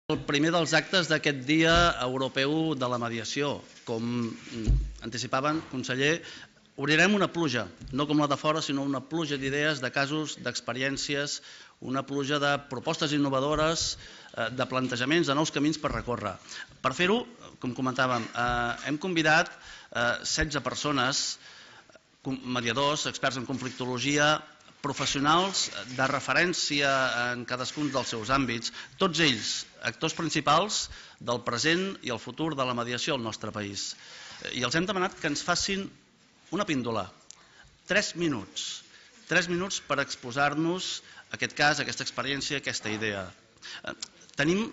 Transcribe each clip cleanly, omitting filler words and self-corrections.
El primer dels actes d'aquest Dia Europeu de la Mediació. Com anticipaven, conseller, obrirem una pluja, no com la de fora, sinó una pluja d'idees, de casos, d'experiències, una pluja de propostes innovadores, de plantejaments, de nous camins per recórrer. Per fer-ho, com comentàvem, hem convidat 16 persones, mediadors, experts en conflictologia, professionals de referència en cadascun dels seus àmbits, tots ells actors principals del present i el futur de la mediació al nostre país. I els hem demanat que ens facin una píndola, 3 minuts per exposar-nos aquest cas, aquesta experiència, aquesta idea. Tenim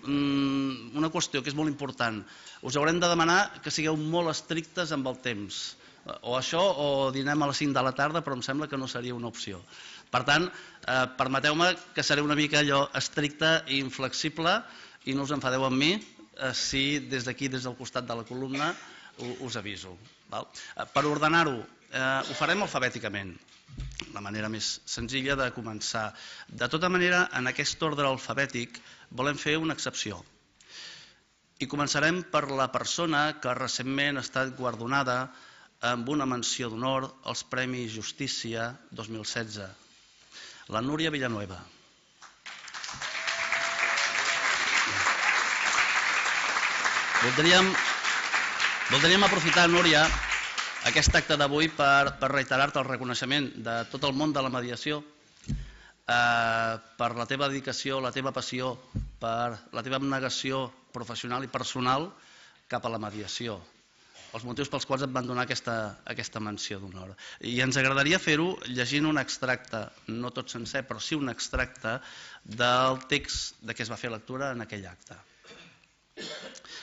una qüestió que és molt important. Us haurem de demanar que sigueu molt estrictes amb el temps. O això o dinem a les 5 de la tarda, però em sembla que no seria una opció. Per tant, permeteu-me que seré una mica allò estricte i inflexible i no us enfadeu amb mi si des d'aquí, des del costat de la columna, us aviso. Per ordenar-ho, ho farem alfabèticament, la manera més senzilla de començar. De tota manera, en aquest ordre alfabètic volem fer una excepció. I començarem per la persona que recentment ha estat guardonada amb una menció d'honor als Premis Justícia 2016, la Núria Villanueva. Voldríem aprofitar, Núria, aquest acte d'avui per reiterar-te el reconeixement de tot el món de la mediació per la teva dedicació, la teva passió, per la teva abnegació professional i personal cap a la mediació. Els motius pels quals et van donar aquesta menció d'honor. I ens agradaria fer-ho llegint un extracte, no tot sencer, però sí un extracte del text de què es va fer lectura en aquell acte.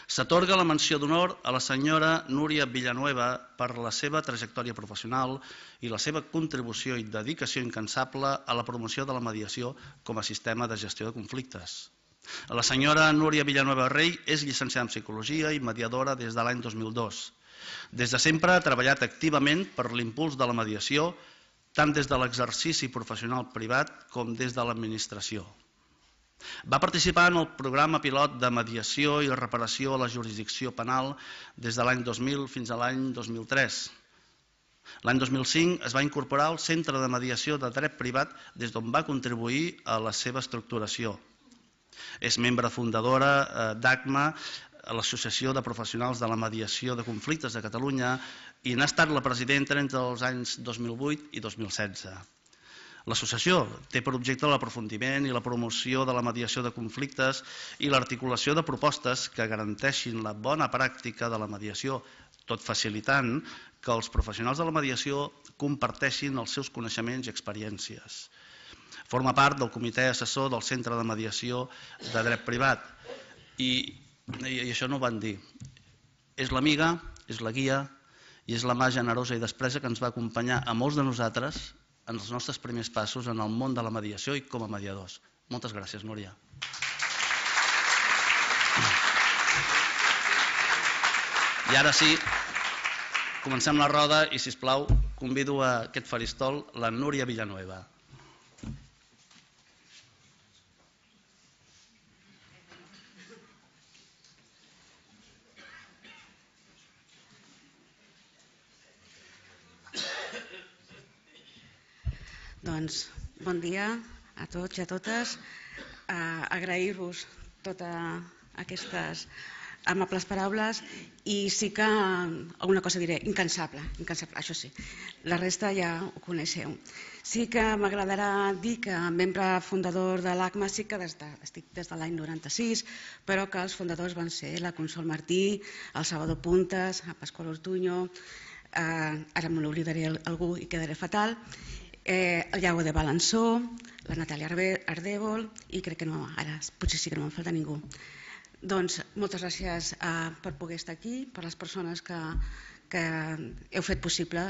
S'atorga la menció d'honor a la senyora Núria Villanueva per la seva trajectòria professional i la seva contribució i dedicació incansable a la promoció de la mediació com a sistema de gestió de conflictes. La senyora Núria Villanueva Rey és llicenciada en Psicologia i mediadora des de l'any 2002. Des de sempre ha treballat activament per l'impuls de la mediació, tant des de l'exercici professional privat com des de l'administració. Va participar en el programa pilot de mediació i reparació a la jurisdicció penal des de l'any 2000 fins a l'any 2003. L'any 2005 es va incorporar al Centre de Mediació de Dret Privat des d'on va contribuir a la seva estructuració. És membre fundadora d'ACMA, l'Associació de Professionals de la Mediació de Conflictes de Catalunya, i n'ha estat la presidenta entre els anys 2008 i 2016. L'associació té per objecte l'aprofundiment i la promoció de la mediació de conflictes i l'articulació de propostes que garanteixin la bona pràctica de la mediació, tot facilitant que els professionals de la mediació comparteixin els seus coneixements i experiències. Forma part del comitè assessor del Centre de Mediació de Dret Privat i això no ho van dir. És l'amiga, és la guia i és la mà generosa i despresa que ens va acompanyar a molts de nosaltres en els nostres primers passos en el món de la mediació i com a mediadors. Moltes gràcies, Núria. I ara sí, comencem la roda i, sisplau, convido a aquest faristol la Núria Villanueva. Doncs bon dia a tots i a totes. Agrair-vos totes aquestes amables paraules i sí que alguna cosa diré, incansable, això sí. La resta ja ho coneixeu. Sí que m'agradarà dir que membre fundador de l'ACMA sí que estic des de l'any 96, però que els fundadors van ser la Consol Martí, el Salvador Puntes, el Pasqual Ortuño, ara me n'oblidaré algú i quedaré fatal, el Iago de Balançó, la Natàlia Ardèvol i crec que no, ara potser sí que no me'n falta ningú. Doncs moltes gràcies per poder estar aquí, per les persones que heu fet possible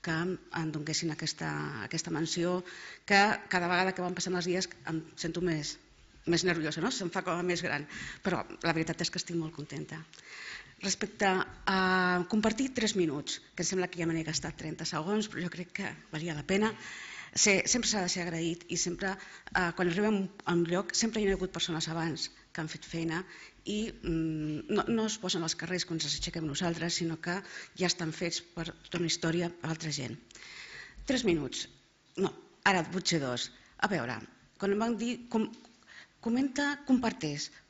que em donguessin aquesta menció, que cada vegada que van passant els dies em sento més nerviosa, se'm fa com més gran, però la veritat és que estic molt contenta. Respecte a compartir 3 minuts, que em sembla que ja me n'he gastat 30 segons, però jo crec que valia la pena. Sempre s'ha de ser agraït i sempre, quan arribem a un lloc, sempre hi ha hagut persones abans que que han fet feina i no es posen als carrers quan ens aixequem nosaltres, sinó que ja estan fets per tota una història per altra gent. 3 minuts. No, ara potser 2. A veure, quan em van dir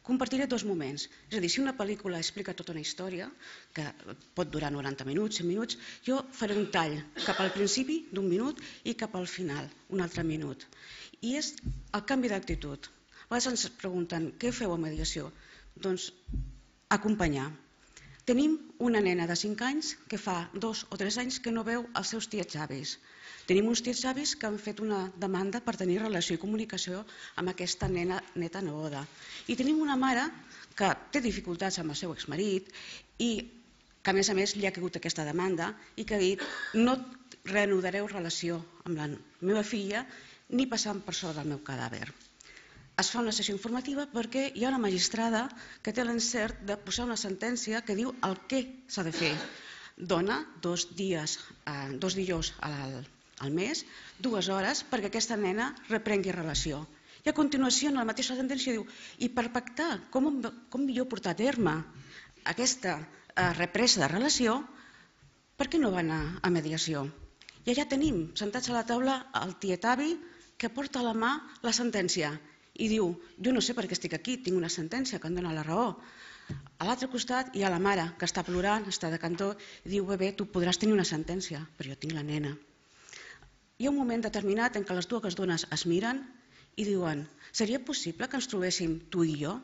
compartiré 2 moments. És a dir, si una pel·lícula explica tota una història, que pot durar 90 minuts, 100 minuts, jo faré un tall cap al principi d'1 minut i cap al final, un altre minut. I és el canvi d'actitud. A vegades ens pregunten, què feu a mediació? Doncs acompanyar. Tenim una nena de 5 anys que fa 2 o 3 anys que no veu els seus tiets avis. Tenim uns tiets avis que han fet una demanda per tenir relació i comunicació amb aquesta neta neboda. I tenim una mare que té dificultats amb el seu exmarit i que a més li ha caigut aquesta demanda i que ha dit no reanudareu relació amb la meva filla ni passant per sobre del meu cadàver. Es fa una sessió informativa perquè hi ha una magistrada que té l'encert de posar una sentència que diu el què s'ha de fer. Dona 2 dijous al mes, 2 hores, perquè aquesta nena reprengui relació. I a continuació, en la mateixa sentència, diu i per pactar com millor portar a terme aquesta represa de relació, per què no va anar a mediació? I allà tenim, sentats a la taula, el tiet avi que porta a la mà la sentència i diu, jo no sé per què estic aquí, tinc una sentència que em dona la raó. A l'altre costat hi ha la mare que està plorant, està de cantó, i diu, bé, tu podràs tenir una sentència, però jo tinc la nena. Hi ha un moment determinat en què les dues dones es miren i diuen, seria possible que ens trobéssim tu i jo?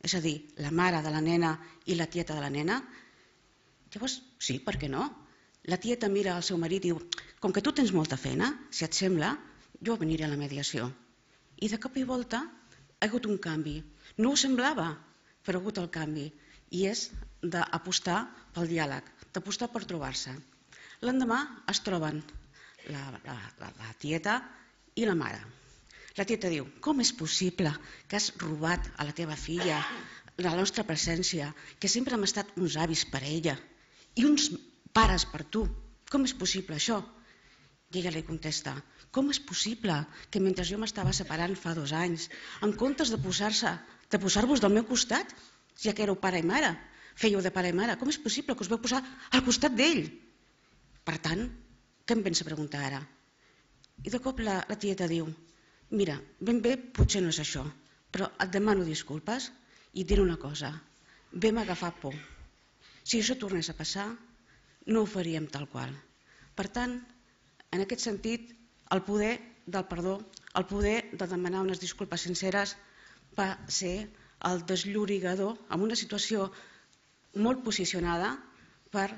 És a dir, la mare de la nena i la tieta de la nena? Llavors, sí, per què no? La tieta mira al seu marit i diu, com que tu tens molta feina, si et sembla, jo aniré a la mediació. I de cop i volta ha hagut un canvi. No ho semblava, però ha hagut el canvi. I és d'apostar pel diàleg, d'apostar per trobar-se. L'endemà es troben la tieta i la mare. La tieta diu, com és possible que has robat a la teva filla la nostra presència, que sempre hem estat uns avis per a ella i uns pares per tu? Com és possible això? I ella li contesta, com és possible que mentre jo m'estava separant fa 2 anys, en comptes de posar-vos del meu costat, ja que éreu pare i mare, fèieu de pare i mare, com és possible que us veu posar al costat d'ell? Per tant, què em pensa preguntar ara? I de cop la tieta diu, mira, ben bé potser no és això, però et demano disculpes i et diré una cosa, vam agafar por. Si això tornés a passar, no ho faríem tal qual. Per tant, en aquest sentit, el poder del perdó, el poder de demanar unes disculpes sinceres va ser el desllorigador en una situació molt posicionada per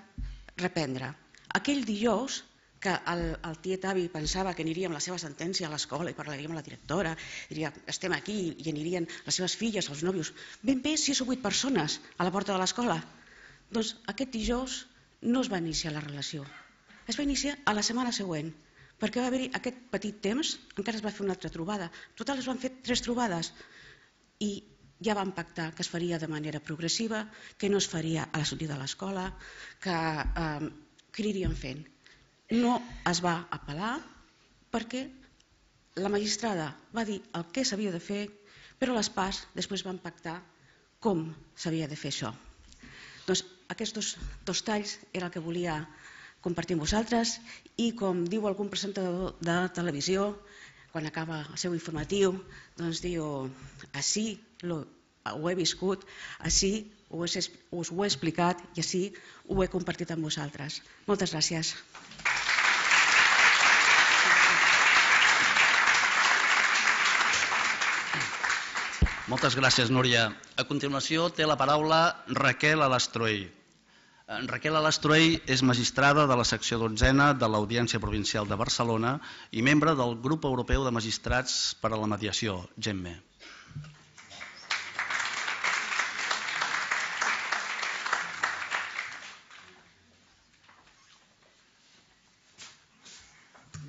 reprendre. Aquell dijous que el tiet avi pensava que aniria amb la seva sentència a l'escola i parlaria amb la directora, diria, estem aquí i anirien les seves filles, els nòvios, ben bé 6 o 8 persones a la porta de l'escola. Doncs aquest dijous no es va iniciar la relació. Es va iniciar a la setmana següent, perquè va haver-hi aquest petit temps, encara es va fer una altra trobada. Total es van fer 3 trobades i ja van pactar que es faria de manera progressiva, que no es faria a la sortida de l'escola, que anirien fent. No es va apel·lar perquè la magistrada va dir el que s'havia de fer, però les parts després van pactar com s'havia de fer això. Doncs aquests 2 talls era el que volia compartir amb vosaltres i com diu algun presentador de televisió quan acaba el seu informatiu, doncs diu, així ho he viscut, així us ho he explicat i així ho he compartit amb vosaltres. Moltes gràcies. Moltes gràcies, Núria. A continuació té la paraula Raquel Alastruell. Raquel Alastruell és magistrada de la secció 12ª de l'Audiència Provincial de Barcelona i membre del Grup Europeu de Magistrats per a la Mediació, GEMME.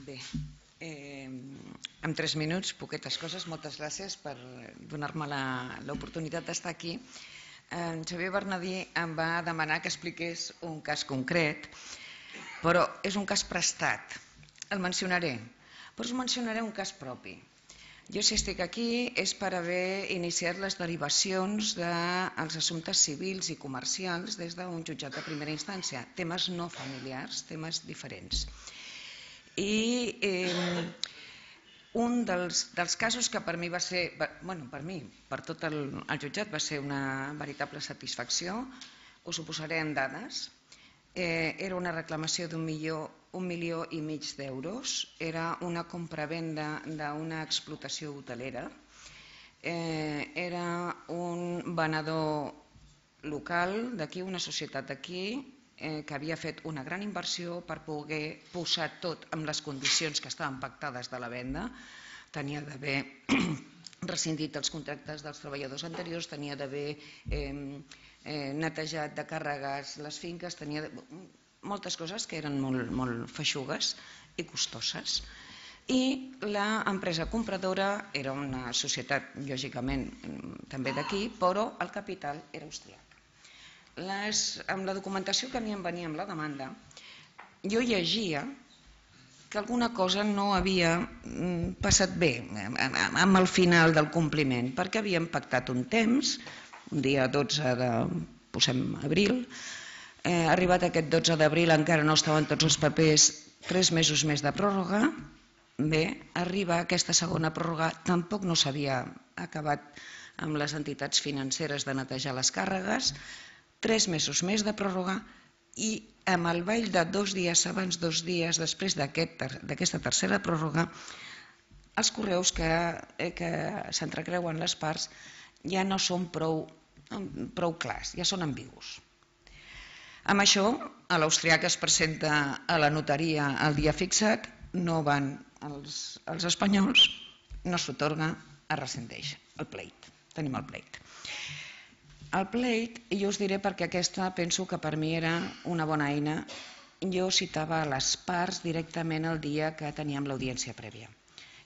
Bé, en 3 minuts, poquetes coses. Moltes gràcies per donar-me l'oportunitat d'estar aquí. En Xavier Bernadí em va demanar que expliqués un cas concret, però és un cas prestat. El mencionaré, però us mencionaré un cas propi. Jo si estic aquí és per haver iniciat les derivacions dels assumptes civils i comercials des d'un jutjat de primera instància, temes no familiars, temes diferents. I un dels casos que per mi va ser, per tot el jutjat va ser una veritable satisfacció, us ho posaré en dades, era una reclamació d'1,5 milió d'euros, era una compravenda d'una explotació hotelera, era un venedor local d'aquí, una societat d'aquí, que havia fet una gran inversió per poder posar tot amb les condicions que estaven pactades de la venda. Tenia d'haver rescindit els contractes dels treballadors anteriors, tenia d'haver netejat de càrregues les finques, tenia moltes coses que eren molt feixugues i costoses. I l'empresa compradora era una societat, lògicament, també d'aquí, però el capital era austríac. Amb la documentació que a mi em venia amb la demanda, jo llegia que alguna cosa no havia passat bé amb el final del compliment, perquè havíem pactat un temps, un dia 12 d'abril, arribat aquest 12 d'abril encara no estaven tots els papers, 3 mesos més de pròrroga. Bé, arriba aquesta segona pròrroga, tampoc no s'havia acabat amb les entitats financeres de netejar les càrregues, 3 mesos més de pròrroga i amb el ball de 2 dies abans, 2 dies després d'aquesta tercera pròrroga, els correus que s'entrecreuen les parts ja no són prou clars, ja són ambigus. Amb això, l'austriac es presenta a la notaria el dia fixat, no van els espanyols, no s'atorga, es rescindeix el pleit. Tenim el pleit. El pleit, i jo us diré perquè aquesta penso que per mi era una bona eina, jo citava les parts directament el dia que teníem l'audiència prèvia.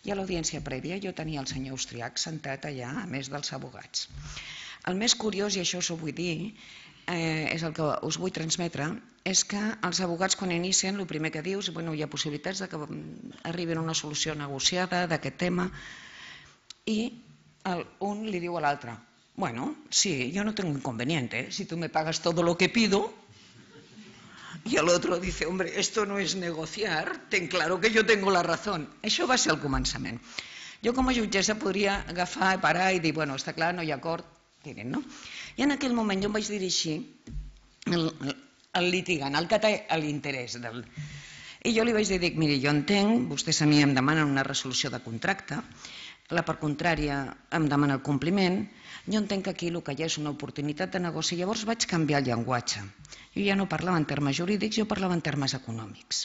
I a l'audiència prèvia jo tenia el senyor austriac sentat allà, a més dels abogats. El més curiós, i això us ho vull dir, és el que us vull transmetre, és que els abogats quan inicien el primer que dius, hi ha possibilitats que arribin a una solució negociada d'aquest tema, i un li diu a l'altre, bueno, sí, yo no tengo inconveniente, si tú me pagas todo lo que pido. Y el otro dice, hombre, esto no es negociar, ten claro que yo tengo la razón. Això va ser el començament. Jo com a jutgessa podria agafar, parar i dir, bueno, està clar, no hi ha acord, tiren, no? I en aquell moment jo em vaig dirigir al litigant, al que té l'interès. I jo li vaig dir, miri, jo entenc, vostès a mi em demanen una resolució de contracte, la part contrària em demana el compliment, jo entenc que aquí el que hi ha és una oportunitat de negoci, llavors vaig canviar el llenguatge. Jo ja no parlava en termes jurídics, jo parlava en termes econòmics.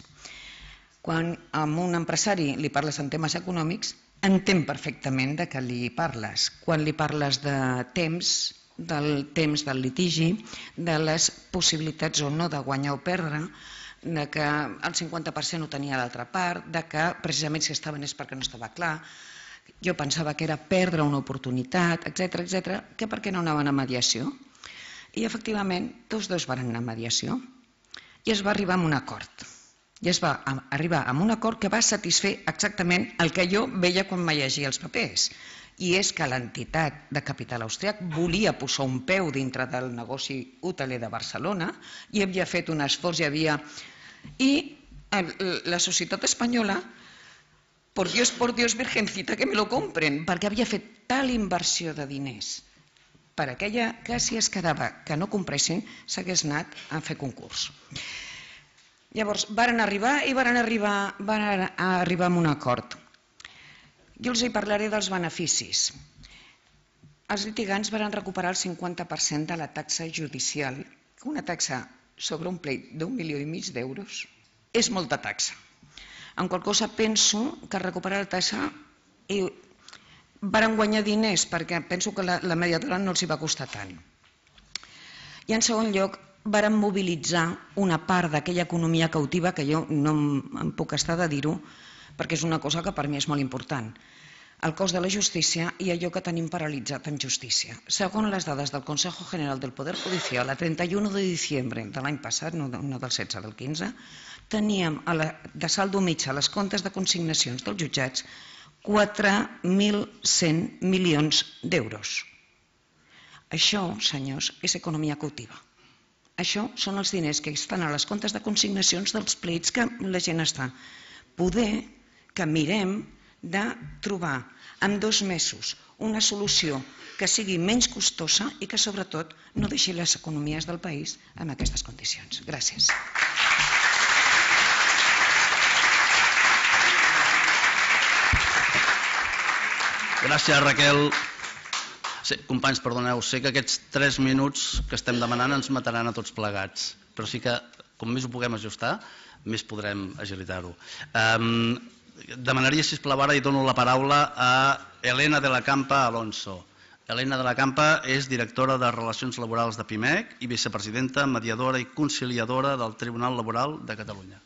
Quan a un empresari li parles en temes econòmics, entén perfectament de què li parles. Quan li parles de temps del litigi, de les possibilitats o no de guanyar o perdre, de que el 50% ho tenia l'altra part, de que precisament si estaven és perquè no estava clar, jo pensava que era perdre una oportunitat, etc., que per què no anaven a mediació? I efectivament tots dos van anar a mediació i es va arribar a un acord. I es va arribar a un acord que va satisfer exactament el que jo veia quan me llegia els papers. I és que l'entitat de capital austríac volia posar un peu dintre del negoci hoteler de Barcelona i havia fet un esforç, i la societat espanyola, por Dios, virgencita, que me lo compren, perquè havia fet tal inversió de diners per aquella que si es quedava que no compressin s'hagués anat a fer concurs. Llavors, van arribar a un acord. Jo els hi parlaré dels beneficis. Els litigants van recuperar el 50% de la taxa judicial. Una taxa sobre un pleit d'1,5 milió d'euros és molta taxa. En qual cosa penso que recuperar la taxa van guanyar diners perquè penso que la mediadora no els hi va costar tant. I en segon lloc van mobilitzar una part d'aquella economia cautiva que jo no em puc estar de dir-ho perquè és una cosa que per mi és molt important. El cost de la justícia i allò que tenim paralitzat en justícia. Segons les dades del Consejo General del Poder Judicial, a 31 de diciembre de l'any passat, no del 16, del 15, teníem de saldo mitjà a les comptes de consignacions dels jutjats 4.100 milions d'euros. Això, senyors, és economia cautiva. Això són els diners que estan a les comptes de consignacions dels pleits que la gent està. Poder que mirem de trobar en 2 mesos una solució que sigui menys costosa i que sobretot no deixi les economies del país en aquestes condicions. Gràcies. Gràcies, Raquel. Companys, perdoneu, sé que aquests 3 minuts que estem demanant ens mataran a tots plegats, però sí que com més ho puguem ajustar, més podrem agilitar-ho. Demanaria, sisplau, ara i dono la paraula a Elena de la Campa Alonso. Elena de la Campa és directora de Relacions Laborals de PIMEC i vicepresidenta, mediadora i conciliadora del Tribunal Laboral de Catalunya.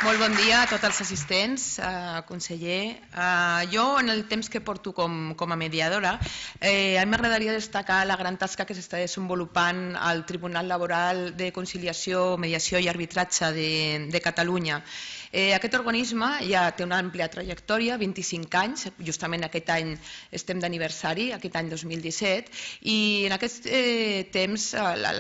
Molt bon dia a tots els assistents, conseller. Jo, en el temps que porto com a mediadora, a mi m'agradaria destacar la gran tasca que s'està desenvolupant al Tribunal Laboral de Conciliació, Mediació i Arbitratge de Catalunya. Aquest organisme ja té una àmplia trajectòria, 25 anys, justament aquest any estem d'aniversari, aquest any 2017, i en aquest temps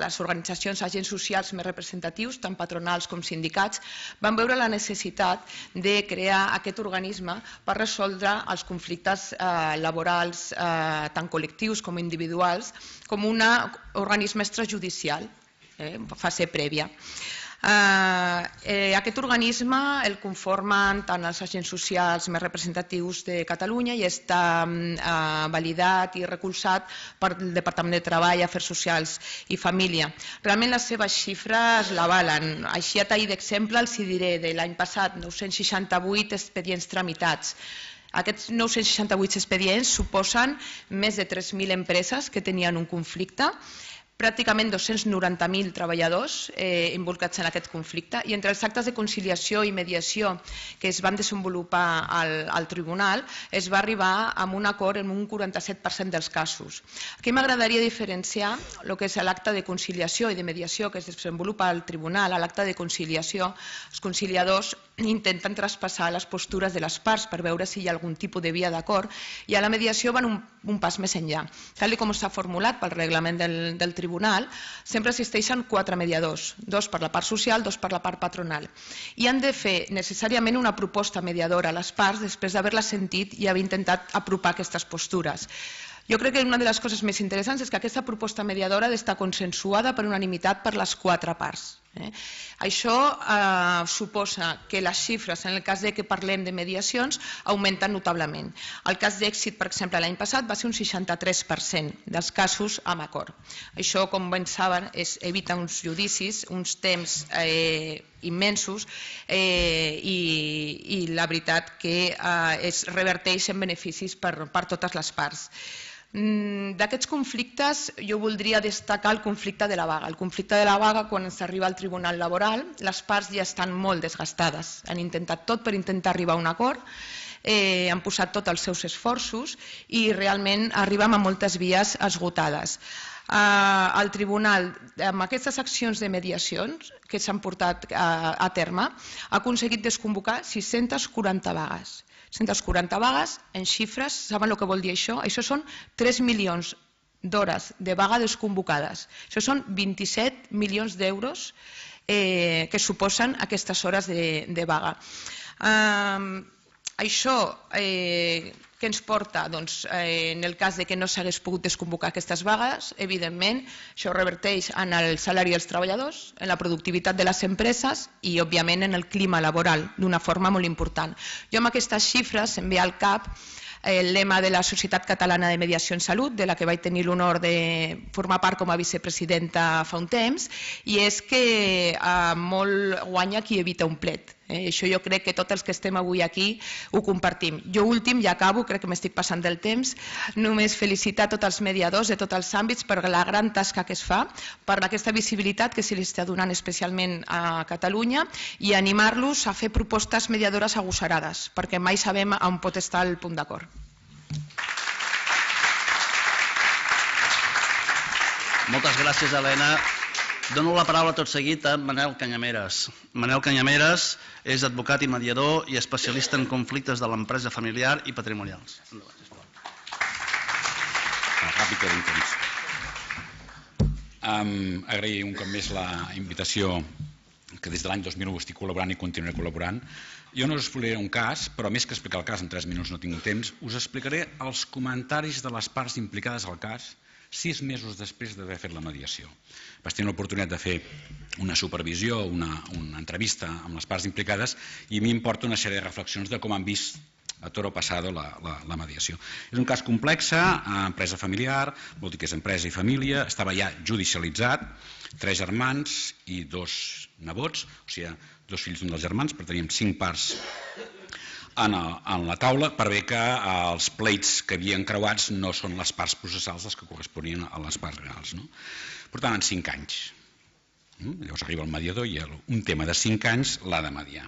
les organitzacions, agents socials més representatius, tant patronals com sindicats, van veure la necessitat de crear aquest organisme per resoldre els conflictes laborals, tant col·lectius com individuals, com un organisme extrajudicial, fase prèvia. Aquest organisme el conformen tant els agents socials més representatius de Catalunya i està validat i recolzat pel Departament de Treball, Afers Socials i Família. Realment les seves xifres l'avalen. Així a tall d'exemple els diré de l'any passat 968 expedients tramitats. Aquests 968 expedients suposen més de 3.000 empreses que tenien un conflicte, pràcticament 290.000 treballadors involucrats en aquest conflicte, i entre els actes de conciliació i mediació que es van desenvolupar al tribunal es va arribar a un acord en un 47% dels casos. Aquí m'agradaria diferenciar el que és l'acte de conciliació i de mediació que es desenvolupa al tribunal. A l'acte de conciliació, els conciliadors intenten traspassar les postures de les parts per veure si hi ha algun tipus de via d'acord, i a la mediació van un pas més enllà. Tal com està formulat pel reglament del tribunal, sempre existeixen 4 mediadors, 2 per la part social, 2 per la part patronal, i han de fer necessàriament una proposta mediadora a les parts després d'haver-la sentit i haver intentat apropar aquestes postures. Jo crec que una de les coses més interessants és que aquesta proposta mediadora ha d'estar consensuada per unanimitat per les 4 parts. Això suposa que les xifres, en el cas que parlem de mediacions, augmenten notablement. El cas d'èxit, per exemple, l'any passat va ser un 63% dels casos amb acord. Això, com ben saben, evita uns judicis, uns temps immensos, i la veritat que es reverteix en beneficis per totes les parts. D'aquests conflictes jo voldria destacar el conflicte de la vaga. El conflicte de la vaga, quan s'arriba al Tribunal Laboral, les parts ja estan molt desgastades. Han intentat tot per intentar arribar a un acord, han posat tots els seus esforços i realment arribem a moltes vies esgotades. El Tribunal, amb aquestes accions de mediacions que s'han portat a terme, ha aconseguit desconvocar 640 vagues. 140 vagues, en xifres, saben el que vol dir això? Això són 3 milions d'hores de vaga desconvocades. Això són 27 milions d'euros que suposen aquestes hores de vaga. Això que ens porta, en el cas que no s'hagués pogut desconvocar aquestes vagues, evidentment, això reverteix en el salari dels treballadors, en la productivitat de les empreses i, òbviament, en el clima laboral, d'una forma molt important. Jo amb aquestes xifres em ve al cap el lema de la Societat Catalana de Mediació en Salut, de la que vaig tenir l'honor de formar part com a vicepresidenta fa un temps, i és que molt guanya qui evita un plet. Això jo crec que tots els que estem avui aquí ho compartim. Jo últim, ja acabo, crec que m'estic passant del temps, només felicitar tots els mediadors de tots els àmbits per la gran tasca que es fa, per aquesta visibilitat que se li està donant especialment a Catalunya, i animar-los a fer propostes mediadores agosarades, perquè mai sabem on pot estar el punt d'acord. Moltes gràcies, Helena. Dono la paraula tot seguit a Manel Canyameres. Manel Canyameres és advocat i mediador i especialista en conflictes de l'empresa familiar i patrimonials. Endavant, sisplau. Ràpid que d'interès. Agrair un cop més la invitació, que des de l'any 2001 estic col·laborant i continuaré col·laborant. Jo no us explicaré un cas, però més que explicar el cas, en 3 minuts no tinc temps, us explicaré els comentaris de les parts implicades al cas 6 mesos després d'haver fet la mediació. Vaig tenir l'oportunitat de fer una supervisió, una entrevista amb les parts implicades i m'importa una sèrie de reflexions de com han vist a toro passado la mediació. És un cas complex, empresa familiar, vol dir que és empresa i família, estava ja judicialitzat, 3 germans i 2 nebots, o sigui, 2 fills d'un dels germans, però teníem 5 parts en la taula per bé que els pleits que havien creuats no són les parts processals les que corresponien a les parts reals. Per tant, en 5 anys. Llavors arriba el mediador i un tema de 5 anys l'ha de mediar.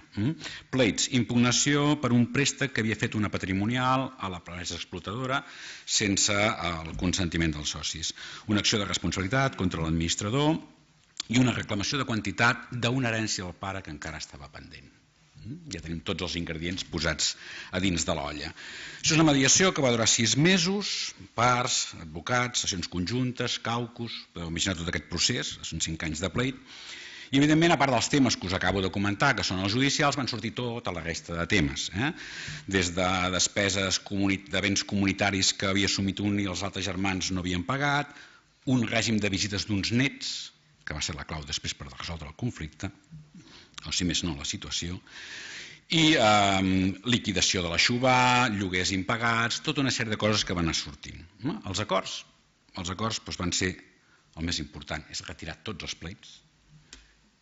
Pleits, impugnació per un préstec que havia fet una patrimonial a la empresa explotadora sense el consentiment dels socis. Una acció de responsabilitat contra l'administrador i una reclamació de quantitat d'una herència del pare que encara estava pendent. Ja tenim tots els ingredients posats a dins de l'olla. Això és una mediació que va durar 6 mesos, parts, advocats, sessions conjuntes, caucus, podeu imaginar tot aquest procés, són 5 anys de pleit. I evidentment, a part dels temes que us acabo de comentar, que són els judicials, van sortir tota la resta de temes. Des de despeses de béns comunitaris que havia assumit un i els altres germans no havien pagat, un règim de visites d'uns nets, que va ser la clau després per resoldre el conflicte, o si més no la situació, i liquidació de la Xubà, lloguers impagats, tota una sèrie de coses que van anar sortint. Els acords van ser el més important, és retirar tots els pleits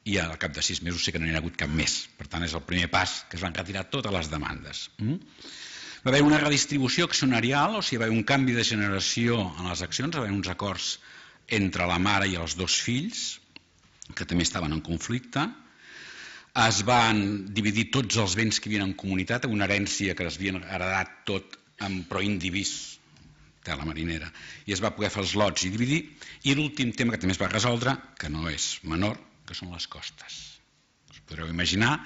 i al cap de 6 mesos sé que no n'hi ha hagut cap més. Per tant, és el primer pas que es van retirar totes les demandes. Va haver una redistribució accionarial, o sigui, va haver un canvi de generació en les accions, va haver uns acords entre la mare i els 2 fills, que també estaven en conflicte. Es van dividir tots els béns que hi havia en comunitat, una herència que es havien heredat tot però indivís, de la marinera, i es va poder fer els lots i dividir. I l'últim tema que també es va resoldre, que no és menor, que són les costes. Us podreu imaginar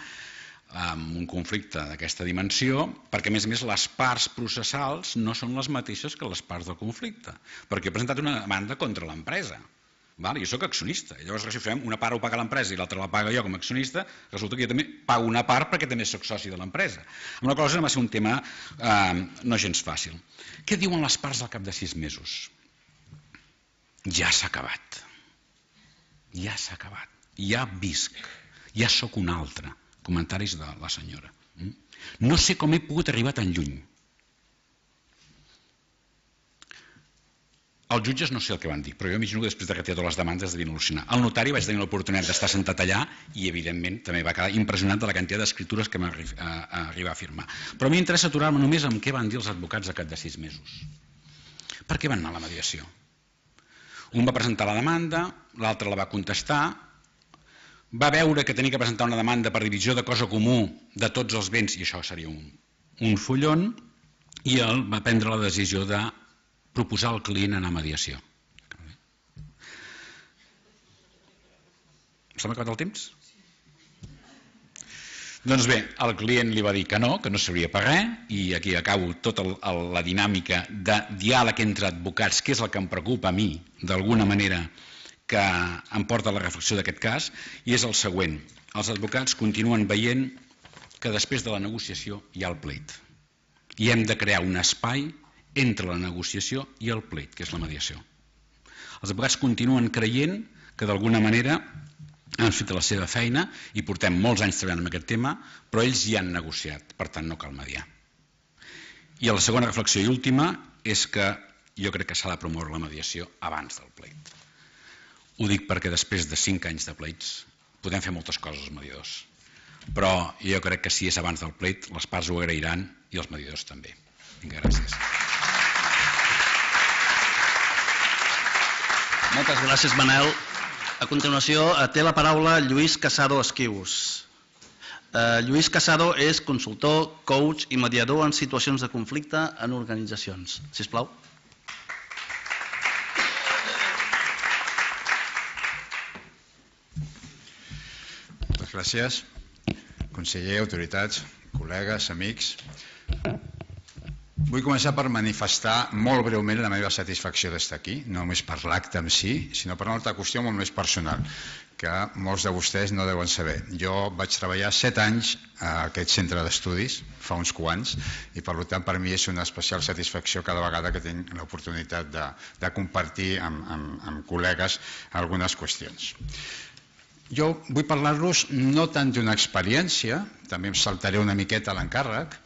un conflicte d'aquesta dimensió, perquè a més les parts processals no són les mateixes que les parts del conflicte, perquè he presentat una demanda contra l'empresa. Jo soc accionista, llavors si fem una part ho paga l'empresa i l'altra la paga jo com a accionista, resulta que jo també pago una part perquè també soc soci de l'empresa. Amb la cosa va ser un tema no gens fàcil. Què diuen les parts al cap de 6 mesos? Ja s'ha acabat. Ja s'ha acabat. Ja visc. Ja sóc un altre. Comentaris de la senyora. No sé com he pogut arribar tan lluny. Els jutges no sé el que van dir, però jo imagino que després de retirar totes les demandes devien al·lucinar. El notari vaig tenir l'oportunitat d'estar sentat allà i, evidentment, també va quedar impressionat de la quantitat d'escritures que m'ha arribat a firmar. Però a mi m'interessa aturar-me només amb què van dir els advocats al cap de 6 mesos. Per què van anar a la mediació? Un va presentar la demanda, l'altre la va contestar, va veure que tenia que presentar una demanda per divisió de cosa comú de tots els béns, i això seria un fullon, i ell va prendre la decisió de proposar al client anar a mediació. Se m'ha acabat el temps? Doncs bé, el client li va dir que no servia per res, i aquí acabo tota la dinàmica de diàleg entre advocats, que és el que em preocupa a mi, d'alguna manera, que em porta a la reflexió d'aquest cas, i és el següent. Els advocats continuen veient que després de la negociació hi ha el pleit. I hem de crear un espai entre la negociació i el pleit, que és la mediació. Els advocats continuen creient que d'alguna manera han fet la seva feina i portem molts anys treballant en aquest tema, però ells ja han negociat, per tant no cal mediar. I la segona reflexió i última és que jo crec que s'ha de promoure la mediació abans del pleit. Ho dic perquè després de 5 anys de pleits podem fer moltes coses els mediadors, però jo crec que si és abans del pleit les parts ho agrairan i els mediadors també. Vinga, gràcies. Moltes gràcies, Manel. A continuació, té la paraula Lluís Casado Esquius. Lluís Casado és consultor, coach i mediador en situacions de conflicte en organitzacions. Sisplau. Moltes gràcies. Conseller, autoritats, col·legues, amics. Vull començar per manifestar molt breument la meva satisfacció d'estar aquí, no només per l'acte en si, sinó per una altra qüestió molt més personal, que molts de vostès no deuen saber. Jo vaig treballar 7 anys a aquest centre d'estudis, fa uns quants, i per tant per mi és una especial satisfacció cada vegada que tinc l'oportunitat de compartir amb col·legues algunes qüestions. Jo vull parlar-los no tant d'una experiència, també em saltaré una miqueta l'encàrrec,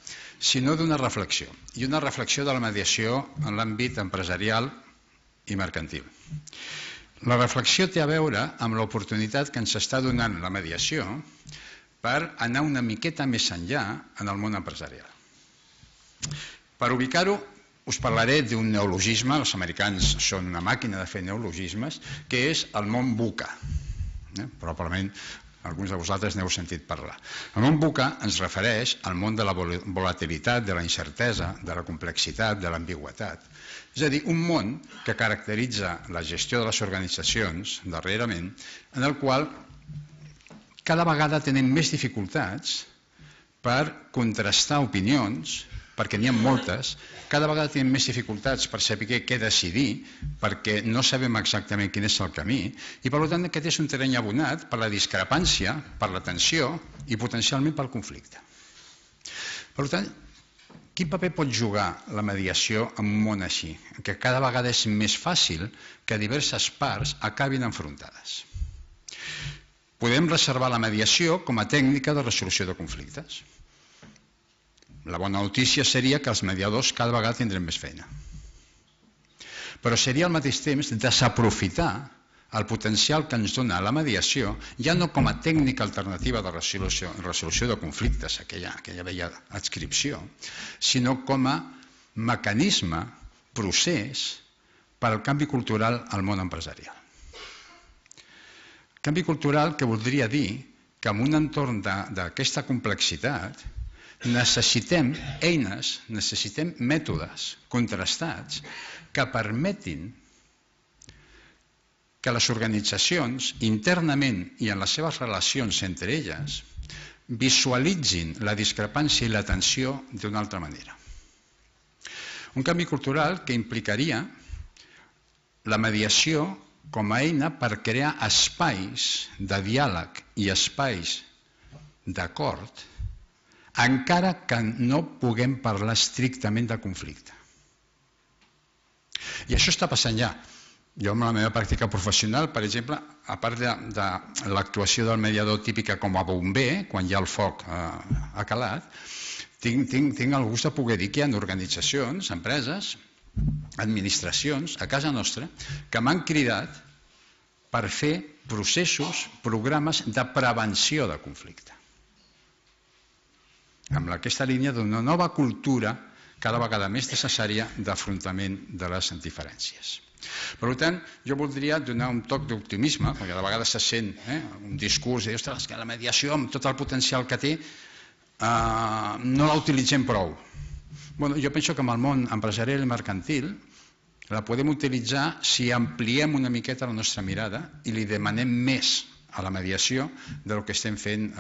sinó d'una reflexió, i una reflexió de la mediació en l'àmbit empresarial i mercantil. La reflexió té a veure amb l'oportunitat que ens està donant la mediació per anar una miqueta més enllà en el món empresarial. Per ubicar-ho, us parlaré d'un neologisme, els americans són una màquina de fer neologismes, que és el món VUCA. Probablement alguns de vosaltres n'heu sentit parlar. El món VUCA ens refereix al món de la volatilitat, de la incertesa, de la complexitat, de l'ambigüitat. És a dir, un món que caracteritza la gestió de les organitzacions darrerament, en el qual cada vegada tenen més dificultats per contrastar opinions, perquè n'hi ha moltes, cada vegada tenim més dificultats per saber què decidir, perquè no sabem exactament quin és el camí, i per tant aquest és un terreny abonat per la discrepància, per la tensió i potencialment pel conflicte. Per tant, quin paper pot jugar la mediació en un món així, que cada vegada és més fàcil que diverses parts acabin enfrontades? Podem reservar la mediació com a tècnica de resolució de conflictes. La bona notícia seria que els mediadors cada vegada tindrem més feina. Però seria al mateix temps desaprofitar el potencial que ens dona la mediació, ja no com a tècnica alternativa de resolució de conflictes, aquella vella adscripció, sinó com a mecanisme, procés per al canvi cultural al món empresarial. Canvi cultural que voldria dir que en un entorn d'aquesta complexitat necessitem eines, necessitem mètodes contrastats que permetin que les organitzacions internament i en les seves relacions entre elles visualitzin la discrepància i la tensió d'una altra manera. Un canvi cultural que implicaria la mediació com a eina per crear espais de diàleg i espais d'acord, encara que no puguem parlar estrictament de conflicte. I això està passant ja. Jo, en la meva pràctica professional, per exemple, a part de l'actuació del mediador típica com a bomber, quan ja el foc ha calat, tinc el gust de poder dir que hi ha organitzacions, empreses, administracions, a casa nostra, que m'han cridat per fer processos, programes de prevenció de conflicte. Amb aquesta línia d'una nova cultura cada vegada més necessària d'afrontament de les diferències. Per tant, jo voldria donar un toc d'optimisme, perquè de vegades se sent un discurs de ostres, que la mediació amb tot el potencial que té no la utilitzem prou. Jo penso que amb el món empresarial i mercantil la podem utilitzar si ampliem una miqueta la nostra mirada i li demanem més a la mediació del que estem fent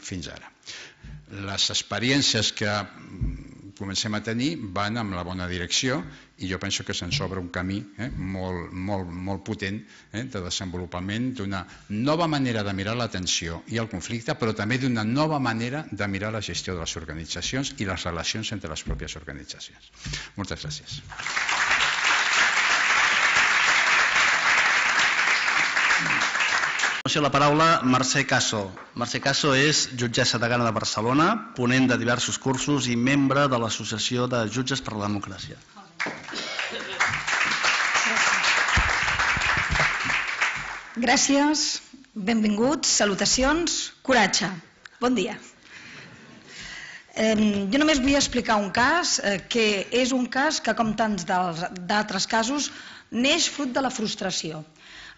fins ara. Les experiències que comencem a tenir van en la bona direcció i jo penso que se'ns obre un camí molt potent de desenvolupament d'una nova manera de mirar la tensió i el conflicte, però també d'una nova manera de mirar la gestió de les organitzacions i les relacions entre les pròpies organitzacions. Moltes gràcies. La paraula Mercè Caso. Mercè Caso és jutgessa degana de Barcelona, ponent de diversos cursos i membre de l'Associació de Jutges per la Democràcia. Gràcies, benvinguts, salutacions, coratge. Bon dia. Jo només vull explicar un cas que és un cas que, com tants d'altres casos, neix fruit de la frustració.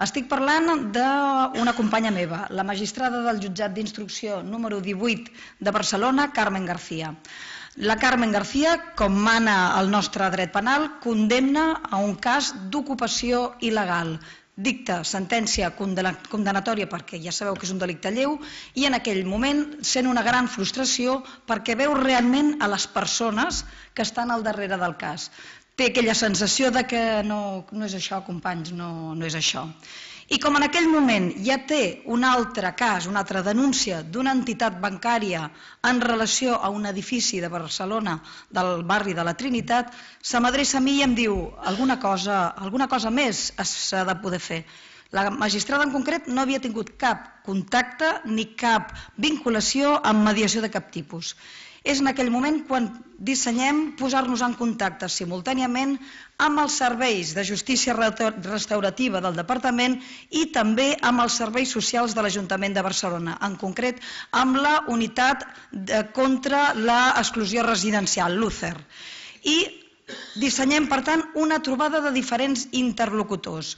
Estic parlant d'una companya meva, la magistrada del jutjat d'instrucció número 18 de Barcelona, Carmen García. La Carmen García, com mana el nostre dret penal, condemna a un cas d'ocupació il·legal, dicta sentència condenatòria perquè ja sabeu que és un delicte lleu i en aquell moment sent una gran frustració perquè veu realment a les persones que estan al darrere del cas. Té aquella sensació de que no és això, companys, no és això. I com en aquell moment ja té un altre cas, una altra denúncia d'una entitat bancària en relació a un edifici de Barcelona, del barri de la Trinitat, se m'adreça a mi i em diu alguna cosa més s'ha de poder fer. La magistrada en concret no havia tingut cap contacte ni cap vinculació amb mediació de cap tipus. És en aquell moment quan dissenyem posar-nos en contacte simultàniament amb els serveis de justícia restaurativa del Departament i també amb els serveis socials de l'Ajuntament de Barcelona, en concret amb la unitat contra l'exclusió residencial, l'UCER. I dissenyem, per tant, una trobada de diferents interlocutors.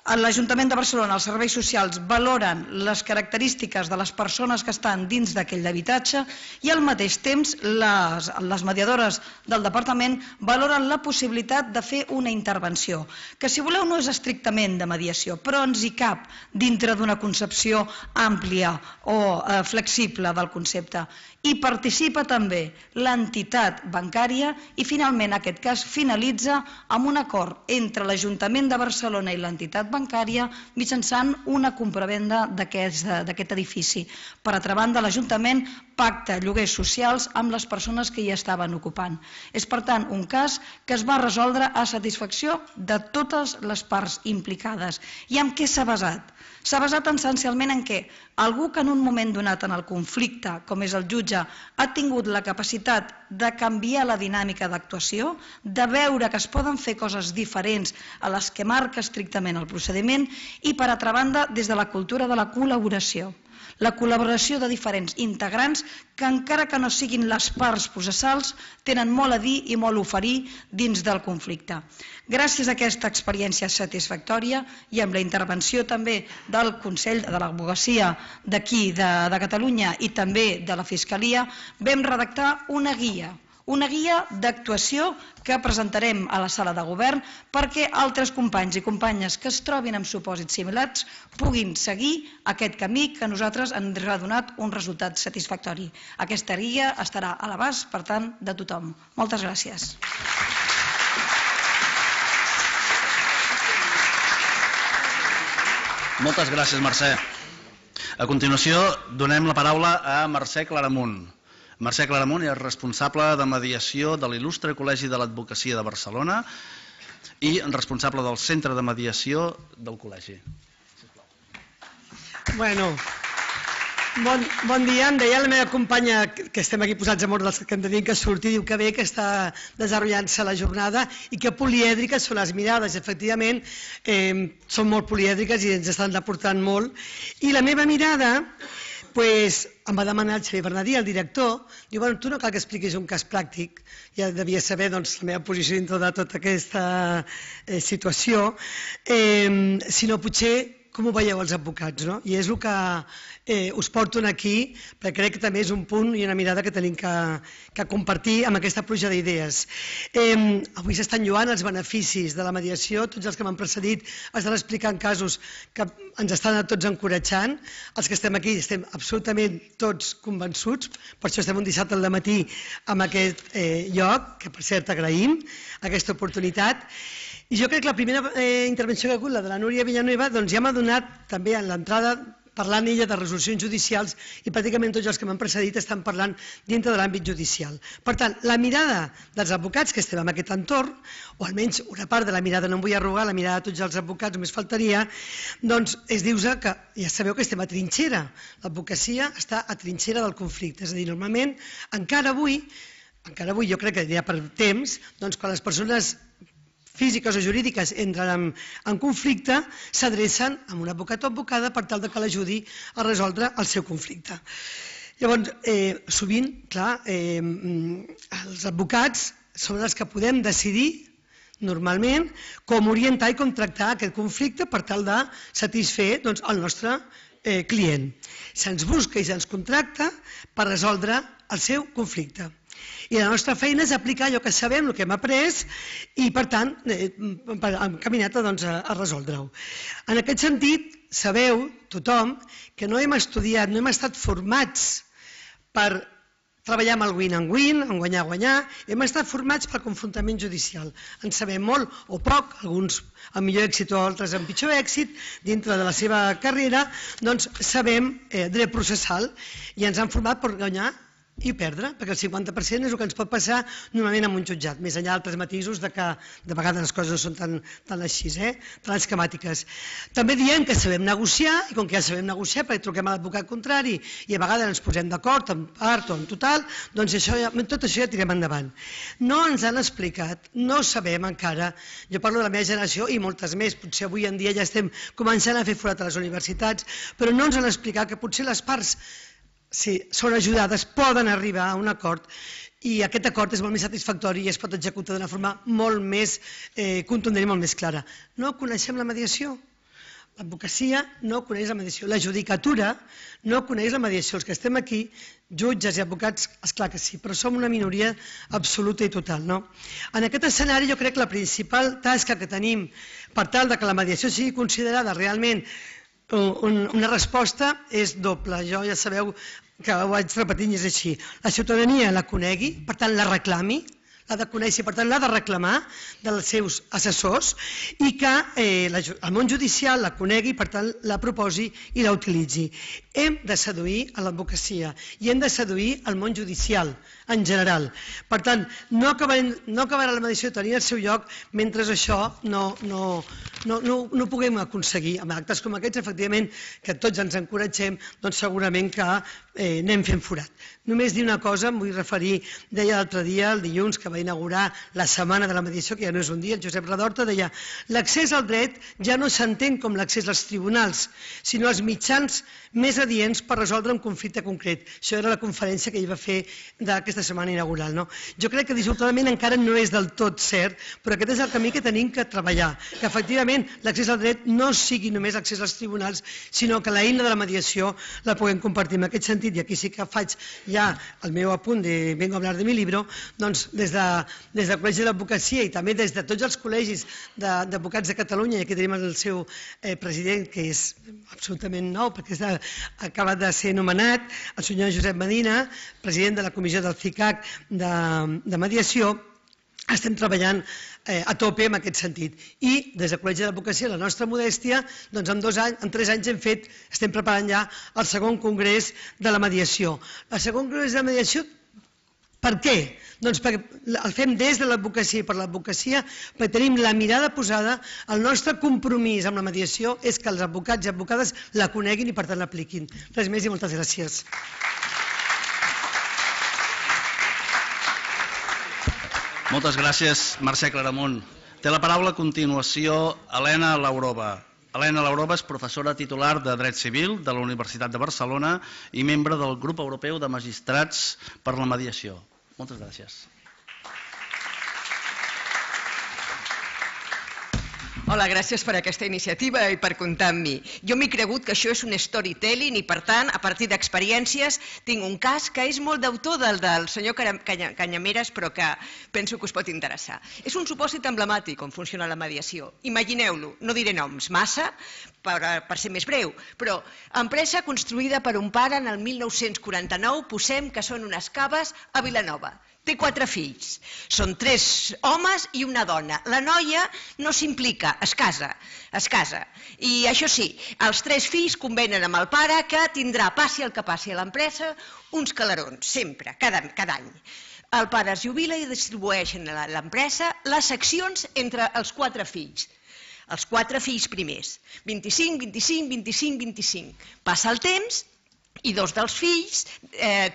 A l'Ajuntament de Barcelona, els serveis socials valoren les característiques de les persones que estan dins d'aquell habitatge i al mateix temps les mediadores del Departament valoren la possibilitat de fer una intervenció, que si voleu no és estrictament de mediació, però ens hi cap dintre d'una concepció àmplia o flexible del concepte. Hi participa també l'entitat bancària i finalment aquest cas finalitza amb un acord entre l'Ajuntament de Barcelona i l'entitat bancària mitjançant una compravenda d'aquest edifici. Per altra banda, l'Ajuntament pacta lloguers socials amb les persones que hi estaven ocupant. És, per tant, un cas que es va resoldre a satisfacció de totes les parts implicades. I en què s'ha basat? S'ha basat essencialment en què algú que en un moment donat en el conflicte, com és el jutge, ha tingut la capacitat de canviar la dinàmica d'actuació, de veure que es poden fer coses diferents a les que marca estrictament el procediment i, per altra banda, des de la cultura de la col·laboració. La col·laboració de diferents integrants que, encara que no siguin les parts processals, tenen molt a dir i molt a oferir dins del conflicte. Gràcies a aquesta experiència satisfactòria i amb la intervenció també del Consell de l'Advocacia d'aquí, de Catalunya, i també de la Fiscalia, vam redactar una guia d'actuació que presentarem a la sala de govern perquè altres companys i companyes que es trobin en supòsits similars puguin seguir aquest camí que a nosaltres ens ha donat un resultat satisfactori. Aquesta guia estarà a l'abast, per tant, de tothom. Moltes gràcies. Moltes gràcies, Mercè. A continuació, donem la paraula a Mercè Claramunt. Mercè Claramunt és responsable de mediació de l'Il·lustre Col·legi de l'Advocacia de Barcelona i responsable del Centre de Mediació del Col·legi. Bueno, bon dia. Em deia la meva companya, que estem aquí posats a mort dels que em tenien que sortir, diu que bé que està desenrotllant-se la jornada i que polièdriques són les mirades. Efectivament, són molt polièdriques i ens estan aportant molt. I la meva mirada, em va demanar el Xavier Bernadí, el director, diu, bueno, tu no cal que expliquis un cas pràctic, ja devia saber la meva posició dintre de tota aquesta situació, sinó potser com ho veieu els advocats, no? I és el que us porto aquí, perquè crec que també és un punt i una mirada que tenim que compartir amb aquesta pluja d'idees. Avui s'estan lloant els beneficis de la mediació, tots els que m'han precedit estan explicant casos que ens estan a tots encoratjant, els que estem aquí estem absolutament tots convençuts, per això estem un dissabte al matí en aquest lloc, que per cert agraïm aquesta oportunitat. I jo crec que la primera intervenció que ha hagut, la de la Núria Villanueva, doncs ja m'ha donat també en l'entrada, parlant ella de resolucions judicials i pràcticament tots els que m'han precedit estan parlant dintre de l'àmbit judicial. Per tant, la mirada dels advocats que estem en aquest entorn, o almenys una part de la mirada, no em vull arrogar, la mirada de tots els advocats, només faltaria, doncs és dir-vos que ja sabeu que estem a trinxera. L'advocacia està a trinxera del conflicte. És a dir, normalment, encara avui, jo crec que ja per temps, doncs quan les persones físiques o jurídiques entren en conflicte, s'adrecen a un advocat o advocada per tal que l'ajudi a resoldre el seu conflicte. Llavors, sovint, clar, els advocats són els que podem decidir, normalment, com orientar i com tractar aquest conflicte per tal de satisfer el nostre client. Se'ns busca i se'ns contracta per resoldre el seu conflicte. I la nostra feina és aplicar allò que sabem, el que hem après, i per tant hem caminat a resoldre-ho. En aquest sentit, sabeu, tothom, que no hem estudiat, no hem estat formats per treballar amb el win and win, en guanyar, hem estat formats pel confrontament judicial. En sabem molt o poc, alguns amb millor èxit o altres amb pitjor èxit, dintre de la seva carrera, doncs sabem dret processal i ens han format per guanyar i perdre, perquè el 50% és el que ens pot passar normalment en un jutjat, més enllà d'altres matisos de que de vegades les coses no són tan així, tan esquemàtiques. També diem que sabem negociar, i com que ja sabem negociar perquè truquem a l'advocat contrari i a vegades ens posem d'acord en part o en total, doncs tot això ja tirem endavant. No ens han explicat, no sabem encara, jo parlo de la meva generació i moltes més, potser avui en dia ja estem començant a fer forat a les universitats, però no ens han explicat que potser les parts, si són ajudades, poden arribar a un acord i aquest acord és molt més satisfactori i es pot executar d'una forma molt més contundent i molt més clara. No coneixem la mediació. L'advocacia no coneix la mediació. La judicatura no coneix la mediació. Els que estem aquí, jutges i advocats, esclar que sí, però som una minoria absoluta i total. En aquest escenari jo crec que la principal tasca que tenim per tal que la mediació sigui considerada realment una resposta és doble. Jo ja sabeu que ho vaig repetint i és així. La ciutadania la conegui, per tant la reclami, l'ha de conèixer, per tant l'ha de reclamar dels seus assessors i que el món judicial la conegui, per tant la proposi i la utilitzi. Hem de seduir a l'advocacia i hem de seduir al món judicial en general. Per tant, no acabarà la mediació tenint el seu lloc mentre això no ho puguem aconseguir. Amb actes com aquests, efectivament, que tots ens encoratgem, doncs segurament que anem fent forat. Només dir una cosa, em vull referir, deia l'altre dia, el dilluns, que va inaugurar la Setmana de la Mediació, que ja no és un dia, el Josep Redorta deia l'accés al dret ja no s'entén com l'accés als tribunals, sinó als mitjans més adients per resoldre un conflicte concret. Això era la conferència que ell va fer d'aquesta setmana inaugural. Jo crec que dissortadament encara no és del tot cert, però aquest és el camí que tenim que treballar, que efectivament l'accés al dret no sigui només l'accés als tribunals, sinó que l'eina de la mediació la puguem compartir. En aquest sentit, i aquí sí que faig ja el meu apunt de Vengo a hablar de mi libro, doncs des del Col·legi d'Advocacia i també des de tots els col·legis d'advocats de Catalunya, i aquí tenim el seu president, que és absolutament nou, perquè ha acabat de ser nomenat, el senyor Josep Medina, president de la comissió del CICAC de mediació, estem treballant a tope en aquest sentit. I des del Col·legi d'Advocacia, la nostra modèstia, doncs en 3 anys estem preparant ja el segon congrés de la mediació. El segon congrés de la mediació, per què? Doncs perquè el fem des de l'advocacia i per l'advocacia, perquè tenim la mirada posada, el nostre compromís amb la mediació és que els advocats i advocades la coneguin i per tant l'apliquin. Res més i moltes gràcies. Moltes gràcies, Mercè Claramunt. Té la paraula a continuació Helena Laurova. Helena Laurova és professora titular de Dret Civil de la Universitat de Barcelona i membre del Grup Europeu de Magistrats per la Mediació. Moltes gràcies. Hola, gràcies per aquesta iniciativa i per comptar amb mi. Jo m'he cregut que això és un storytelling i, per tant, a partir d'experiències, tinc un cas que és molt d'autor del senyor Canyameres, però que penso que us pot interessar. És un supòsit emblemàtic com funciona la mediació. Imagineu-lo, no diré noms massa, per ser més breu, però empresa construïda per un pare en el 1949, posem que són unes caves a Vilanova. Té 4 fills. Són 3 homes i una dona. La noia no s'implica, es casa. I això sí, els 3 fills convenen amb el pare que tindrà, passi el que passi a l'empresa, uns calarons, sempre, cada any. El pare es jubila i distribueixen a l'empresa les accions entre els 4 fills. Els 4 fills primers. 25, 25, 25, 25. Passa el temps i 2 dels fills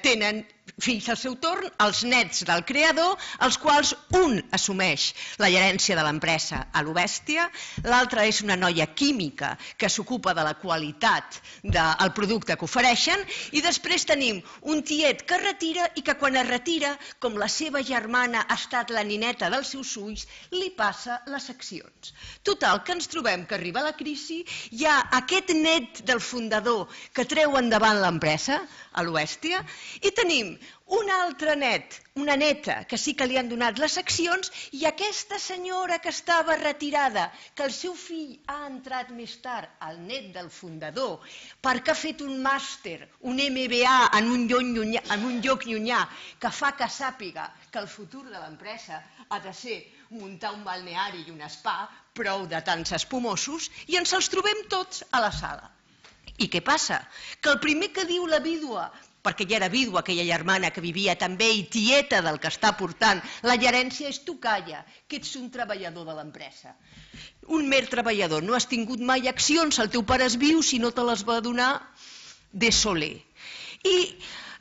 tenen fills al seu torn, els nets del creador, els quals un assumeix la gerència de l'empresa a lo bèstia, l'altra és una noia química que s'ocupa de la qualitat del producte que ofereixen, i després tenim un tiet que es retira i que quan es retira, com la seva germana ha estat la nineta dels seus ulls, li passa les accions. Total, que ens trobem que arriba la crisi, hi ha aquest net del fundador que treu endavant l'empresa, a lo bèstia, i tenim un altre net, una neta, que sí que li han donat les accions, i aquesta senyora que estava retirada, que el seu fill ha entrat més tard, el net del fundador, perquè ha fet un màster, un MBA en un lloc llunyà, que fa que sàpiga que el futur de l'empresa ha de ser muntar un balneari i un spa, prou de tants espumosos, i ens els trobem tots a la sala. I què passa? Que el primer que diu la vídua, perquè ja era vídua aquella germana que vivia també i tieta del que està portant la gerència, és tu calla, que ets un treballador de l'empresa. Un mer treballador, no has tingut mai accions, el teu pare és viu si no te les va donar de soler. I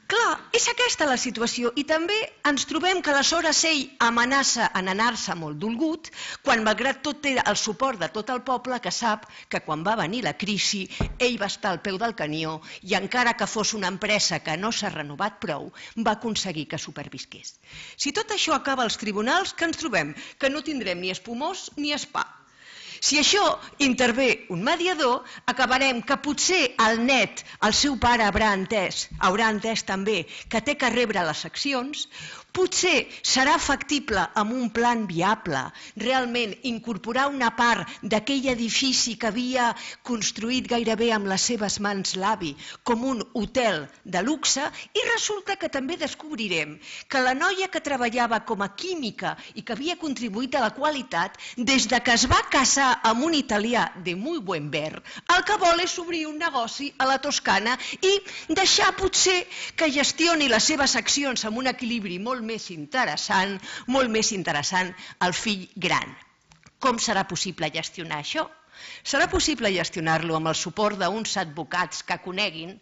clar, és aquesta la situació, i també ens trobem que aleshores ell amenaça en anar-se molt dolgut, quan malgrat tot té el suport de tot el poble, que sap que quan va venir la crisi ell va estar al peu del canió i encara que fos una empresa que no s'ha renovat prou, va aconseguir que supervisqués. Si tot això acaba als tribunals, què ens trobem? Que no tindrem ni espumós ni spa. Si això intervé un mediador, acabarem que potser el net, el seu pare haurà entès també que té que rebre les accions, potser serà factible amb un plan viable realment incorporar una part d'aquell edifici que havia construït gairebé amb les seves mans l'avi com un hotel de luxe, i resulta que també descobrirem que la noia que treballava com a química i que havia contribuït a la qualitat, des de que es va casar amb un italià de muy buen ver, el que vol és obrir un negoci a la Toscana i deixar potser que gestioni les seves accions amb un equilibri molt més interessant al fill gran. Com serà possible gestionar això? Serà possible gestionar-lo amb el suport d'uns advocats que coneguin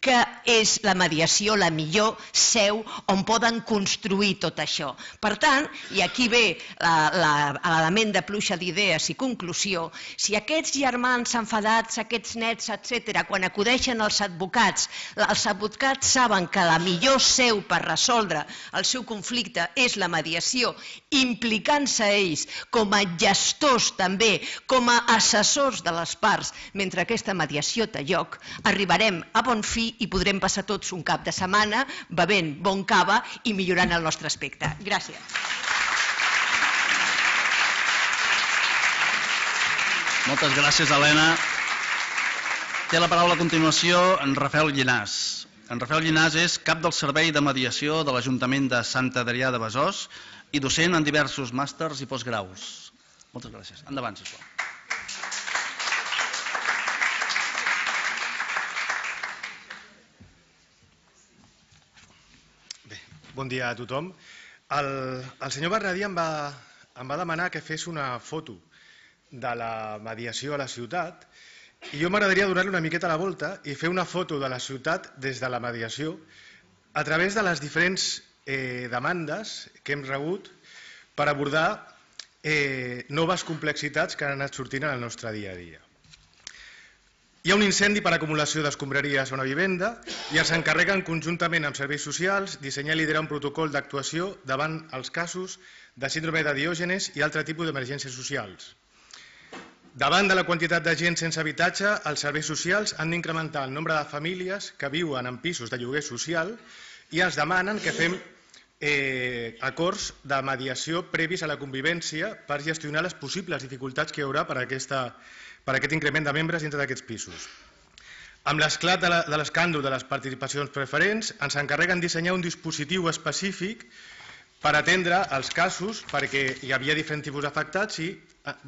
que és la mediació la millor seu on poden construir tot això. Per tant, i aquí ve l'element de pluja d'idees i conclusió, si aquests germans enfadats, aquests nets, etc., quan acudeixen als advocats saben que la millor seu per resoldre el seu conflicte és la mediació, implicant-se ells com a gestors també, com a assessors de les parts, mentre aquesta mediació té lloc, arribarem a bon fi i podrem passar tots un cap de setmana bevent bon cava i millorant el nostre aspecte. Gràcies. Moltes gràcies, Helena. Té la paraula a continuació en Rafael Llinàs. En Rafael Llinàs és cap del Servei de Mediació de l'Ajuntament de Sant Adrià de Besòs i docent en diversos màsters i postgraus. Moltes gràcies. Endavant, sisplau. Bon dia a tothom. El senyor Bernadí em va demanar que fes una foto de la mediació a la ciutat i jo m'agradaria donar-li una miqueta la volta i fer una foto de la ciutat des de la mediació a través de les diferents demandes que hem rebut per abordar noves complexitats que han anat sortint en el nostre dia a dia. Hi ha un incendi per acumulació d'escombraries a una vivenda i ens encarreguen conjuntament amb serveis socials dissenyar i liderar un protocol d'actuació davant els casos de síndrome de Diògenes i altre tipus d'emergències socials. Davant de la quantitat de gent sense habitatge, els serveis socials han d'incrementar el nombre de famílies que viuen en pisos de lloguer social i ens demanen que fem acords de mediació previs a la convivència per gestionar les possibles dificultats que hi haurà per aquest increment de membres dintre d'aquests pisos. Amb l'esclat de l'escàndol de les participacions preferents, ens encarreguen dissenyar un dispositiu específic per atendre els casos, perquè hi havia diferents tipus d'afectats i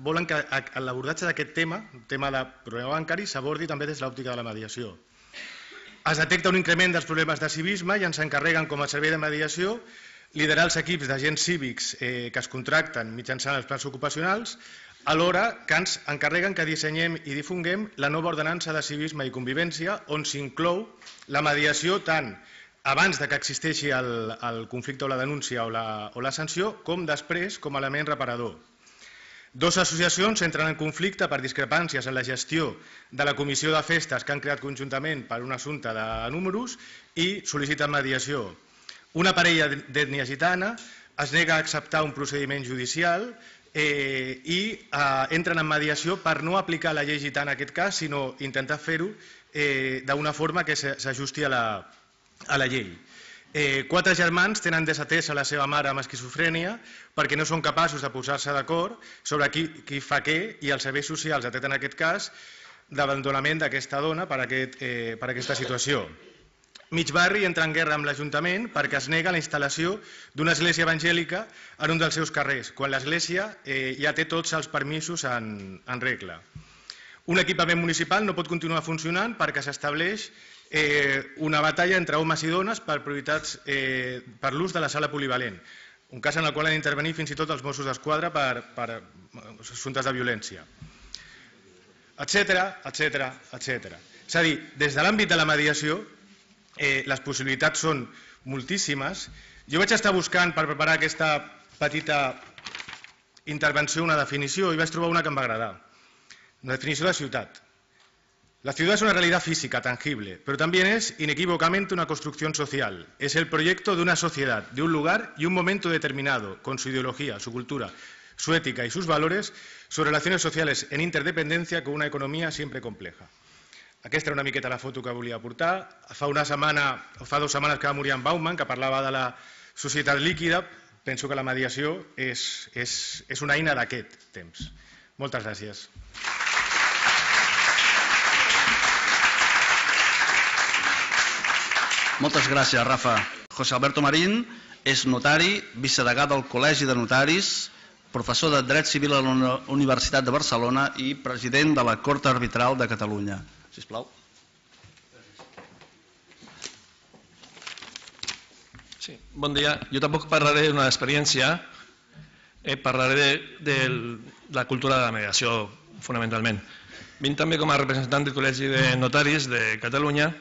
volen que l'abordatge d'aquest tema, el tema de problema bancari, s'abordi també des de l'òptica de la mediació. Es detecta un increment dels problemes de civisme i ens encarreguen com a servei de mediació liderar els equips d'agents cívics que es contracten mitjançant els plans ocupacionals, alhora que ens encarreguen que dissenyem i difonguem la nova ordenança de civisme i convivència on s'inclou la mediació tant abans que existeixi el conflicte o la denúncia o la sanció com després com a element reparador. Dues associacions entren en conflicte per discrepàncies en la gestió de la comissió de festes que han creat conjuntament per un assumpte de números i sol·liciten mediació. Una parella d'ètnia gitana es nega a acceptar un procediment judicial i entren en mediació per no aplicar la llei gitana en aquest cas, sinó intentar fer-ho d'una forma que s'ajusti a la llei. 4 germans tenen desatesa la seva mare amb esquizofrènia perquè no són capaços de posar-se d'acord sobre qui fa què, i els serveis socials detecten aquest cas d'abandonament d'aquesta dona per aquesta situació. Mig barri entra en guerra amb l'Ajuntament perquè es nega la instal·lació d'una església evangèlica en un dels seus carrers, quan l'església ja té tots els permisos en regla. Un equipament municipal no pot continuar funcionant perquè s'estableix una batalla entre homes i dones per l'ús de la sala polivalent, un cas en el qual han d'intervenir fins i tot els Mossos d'Esquadra per assumptes de violència, etcètera. És a dir, des de l'àmbit de la mediació, les possibilitats són moltíssimes. Jo vaig estar buscant per preparar aquesta petita intervenció una definició i vaig trobar una que em va agradar. Una definició de ciutat. La ciudad es una realidad física, tangible, pero también es inequívocamente una construcción social. Es el proyecto de una sociedad, de un lugar y un momento determinado, con su ideología, su cultura, su ética y sus valores, sus relaciones sociales en interdependencia con una economía siempre compleja. Aquesta era una miqueta la foto que volia portar. Fa 2 setmanes que va morir en Bauman, que parlava de la societat líquida. Penso que la mediació és una eina d'aquest temps. Moltes gràcies. Moltes gràcies, Rafa. José Alberto Marín és notari, vicedegà del Col·legi de Notaris, professor de Dret Civil a la Universitat de Barcelona i president de la Cort Arbitral de Catalunya. Sisplau. Sí, bon dia. Jo tampoc parlaré d'una experiència, parlaré de la cultura de la mediació, fonamentalment. Vinc també com a representant del Col·legi de Notaris de Catalunya.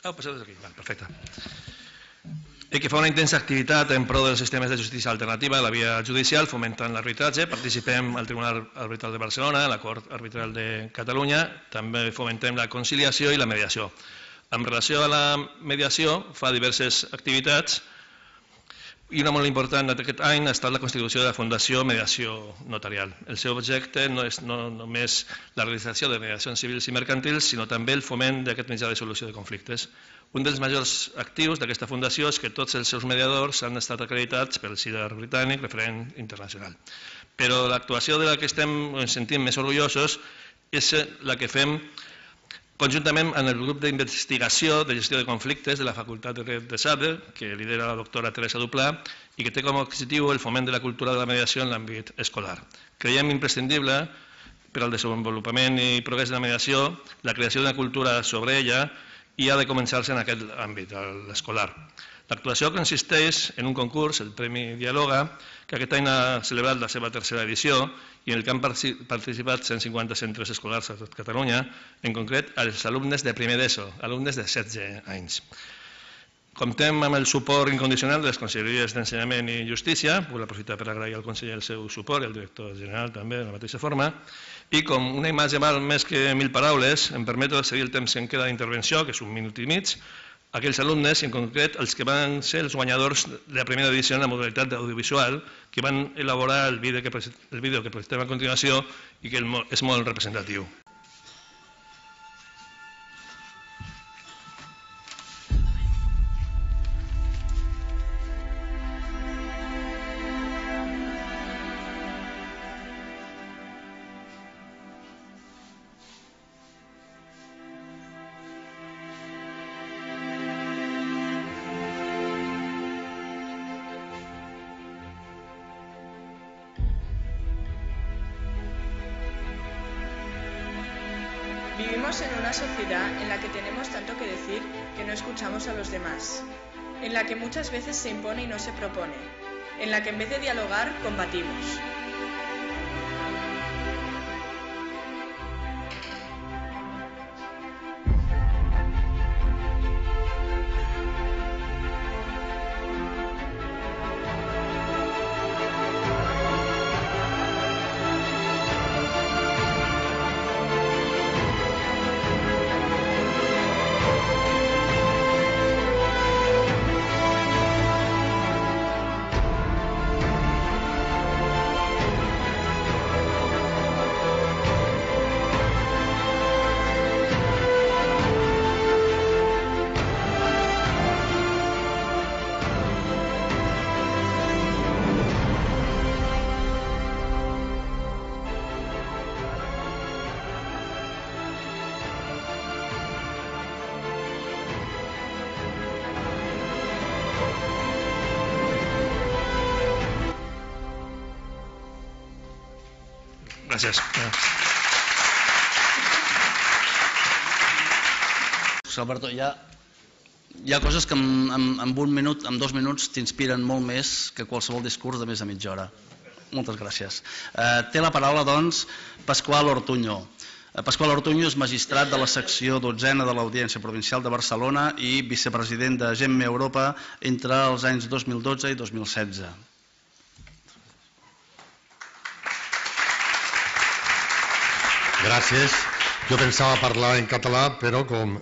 Passeu des d'aquí, perfecte. Que fa una intensa activitat en pro dels sistemes de justícia alternativa a la via judicial, fomentant l'arbitratge. Participem al Tribunal Arbitral de Barcelona, a la Cort Arbitral de Catalunya, també fomentem la conciliació i la mediació. En relació a la mediació, fa diverses activitats i una molt important d'aquest any ha estat la constitució de la Fundació Mediació Notarial. El seu objecte no és només la realització de mediacions civils i mercantils, sinó també el foment d'aquest mitjà de solució de conflictes. Un dels majors actius d'aquesta fundació és que tots els seus mediadors han estat acreditats pel CIDAR britànic, referent internacional. Però l'actuació de la que ens sentim més orgullosos és la que fem conjuntament amb el grup d'investigació de gestió de conflictes de la Facultat de Dret de Sade, que lidera la doctora Teresa Duplà i que té com a objectiu el foment de la cultura de la mediació en l'àmbit escolar. Creiem imprescindible per al desenvolupament i progrés de la mediació la creació d'una cultura sobre ella i ha de començar-se en aquest àmbit, l'escolar. L'actuació consisteix en un concurs, el Premi Dialoga, que aquest any ha celebrat la seva 3a edició i en el que han participat 150 centres escolars a tot Catalunya, en concret els alumnes de primer d'ESO, alumnes de 16 anys. Comptem amb el suport incondicional de les Conselleries d'Ensenyament i Justícia, vull aprofitar per agrair al conseller el seu suport i al director general també de la mateixa forma, i com una imatge val més que 1000 paraules, em permeto seguir el temps que em queda d'intervenció, que és 1 minut i mig, aquells alumnes, i en concret els que van ser els guanyadors de la primera edició en la modalitat d'audiovisual, que van elaborar el vídeo que presentem a continuació i que és molt representatiu. Vivimos en una sociedad en la que tenemos tanto que decir que no escuchamos a los demás, en la que muchas veces se impone y no se propone, en la que en vez de dialogar, combatimos. Gràcies. Alberto, hi ha coses que en 1 minut, en 2 minuts t'inspiren molt més que qualsevol discurs de més de mitja hora. Moltes gràcies. Té la paraula, doncs, Pasqual Ortuño. Pasqual Ortuño és magistrat de la secció 12a de l'Audiència Provincial de Barcelona i vicepresident de GEMME Europa entre els anys 2012 i 2016. Gràcies. Jo pensava parlar en català, però com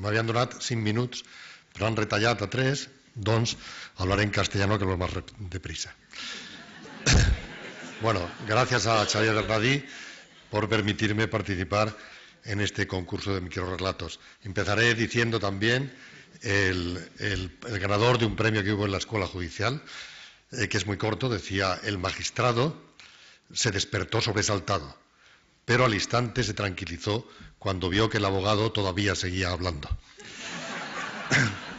m'havien donat 5 minuts, però han retallat a 3, doncs hablaré en castellano, que lo más deprisa. Bueno, gracias a Xavier Bernadí por permitirme participar en este concurso de microrrelatos. Empezaré diciendo también el ganador de un premio que hubo en la Escuela Judicial, que es muy corto, decía: el magistrado se despertó sobresaltado, pero al instante se tranquilizó cuando vio que el abogado todavía seguía hablando.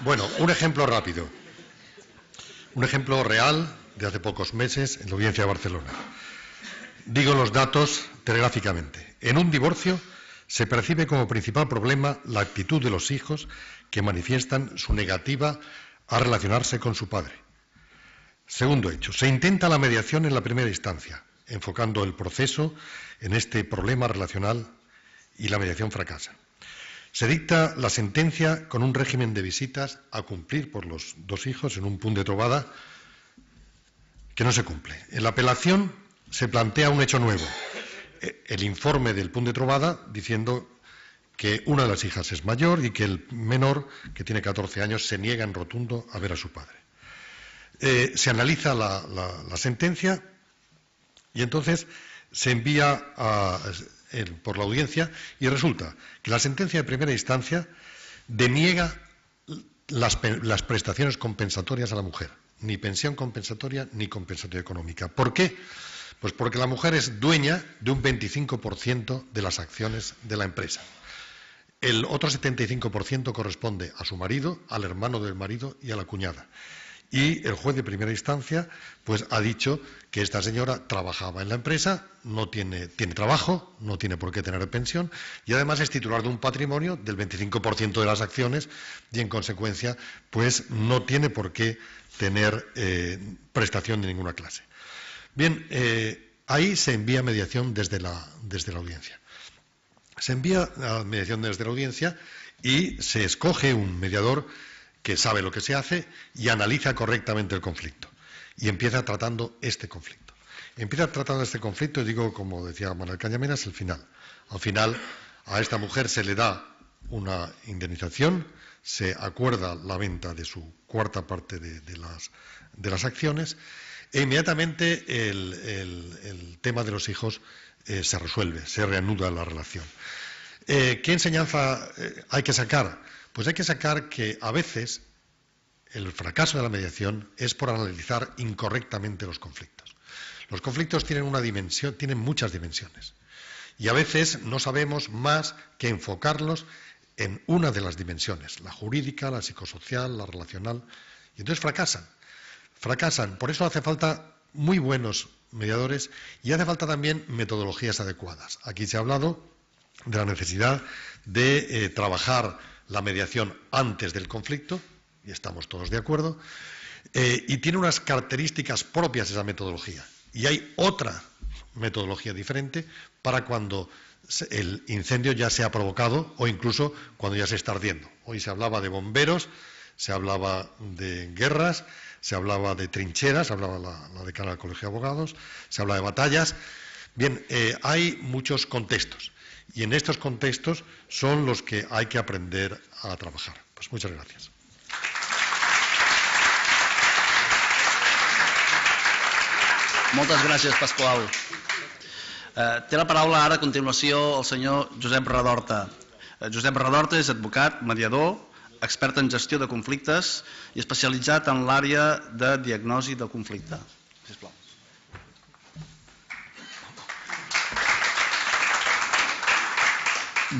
Bueno, un ejemplo rápido, un ejemplo real de hace pocos meses en la Audiencia de Barcelona. Digo los datos telegráficamente. En un divorcio se percibe como principal problema la actitud de los hijos que manifiestan su negativa a relacionarse con su padre. Segundo hecho, se intenta la mediación en la primera instancia, enfocando el proceso en este problema relacional, y la mediación fracasa. Se dicta la sentencia con un régimen de visitas a cumplir por los dos hijos en un punt de trobada que no se cumple. En la apelación se plantea un hecho nuevo, el informe del punt de trobada diciendo que una de las hijas es mayor y que el menor, que tiene 14 años, se niega en rotundo a ver a su padre. Se analiza la sentencia y entonces se envía por la audiencia y resulta que la sentencia de primera instancia deniega las prestaciones compensatorias a la mujer, ni pensión compensatoria ni compensatoria económica. ¿Por qué? Pues porque la mujer es dueña de un 25% de las acciones de la empresa. El otro 75% corresponde a su marido, al hermano del marido y a la cuñada. Y el juez de primera instancia pues ha dicho que esta señora trabajaba en la empresa, no tiene trabajo, no tiene por qué tener pensión y además es titular de un patrimonio del 25% de las acciones y en consecuencia pues no tiene por qué tener prestación de ninguna clase. Bien, ahí se envía mediación desde la audiencia. Se envía la mediación desde la audiencia y se escoge un mediador que sabe lo que se hace y analiza correctamente el conflicto. Y empieza tratando este conflicto. Empieza tratando este conflicto, y digo, como decía Manuel Cañameras, el final. Al final, a esta mujer se le da una indemnización, se acuerda la venta de su cuarta parte de las acciones, e inmediatamente el tema de los hijos se resuelve, se reanuda la relación. ¿Qué enseñanza hay que sacar? Pues hay que sacar que a veces el fracaso de la mediación es por analizar incorrectamente los conflictos. Los conflictos tienen una dimensión, tienen muchas dimensiones. Y a veces no sabemos más que enfocarlos en una de las dimensiones, la jurídica, la psicosocial, la relacional, y entonces fracasan. Fracasan. Por eso hace falta muy buenos mediadores y hace falta también metodologías adecuadas. Aquí se ha hablado de la necesidad de trabajar la mediación antes del conflicto, y estamos todos de acuerdo, y tiene unas características propias esa metodología. Y hay otra metodología diferente para cuando el incendio ya se ha provocado o incluso cuando ya se está ardiendo. Hoy se hablaba de bomberos, se hablaba de guerras, se hablaba de trincheras, hablaba la decana del Colegio de Abogados, se habla de batallas. Bien, hay muchos contextos. Y en estos contextos son los que hay que aprender a trabajar. Pues muchas gracias. Moltes gràcies, Pasqual. Té la paraula ara a continuació el senyor Josep Redorta. Josep Redorta és advocat, mediador, expert en gestió de conflictes i especialitzat en l'àrea de diagnosi del conflicte. Sisplau.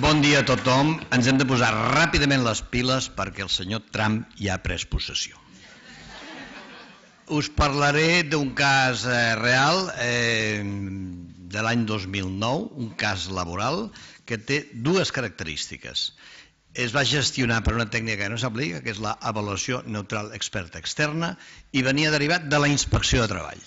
Bon dia a tothom. Ens hem de posar ràpidament les piles perquè el senyor Trump ja ha pres possessió. Us parlaré d'un cas real. de l'any 2009, un cas laboral que té dues característiques. Es va gestionar per una tècnica que no s'aplica, que és l'avaluació neutral experta externa, i venia derivat de la inspecció de treball.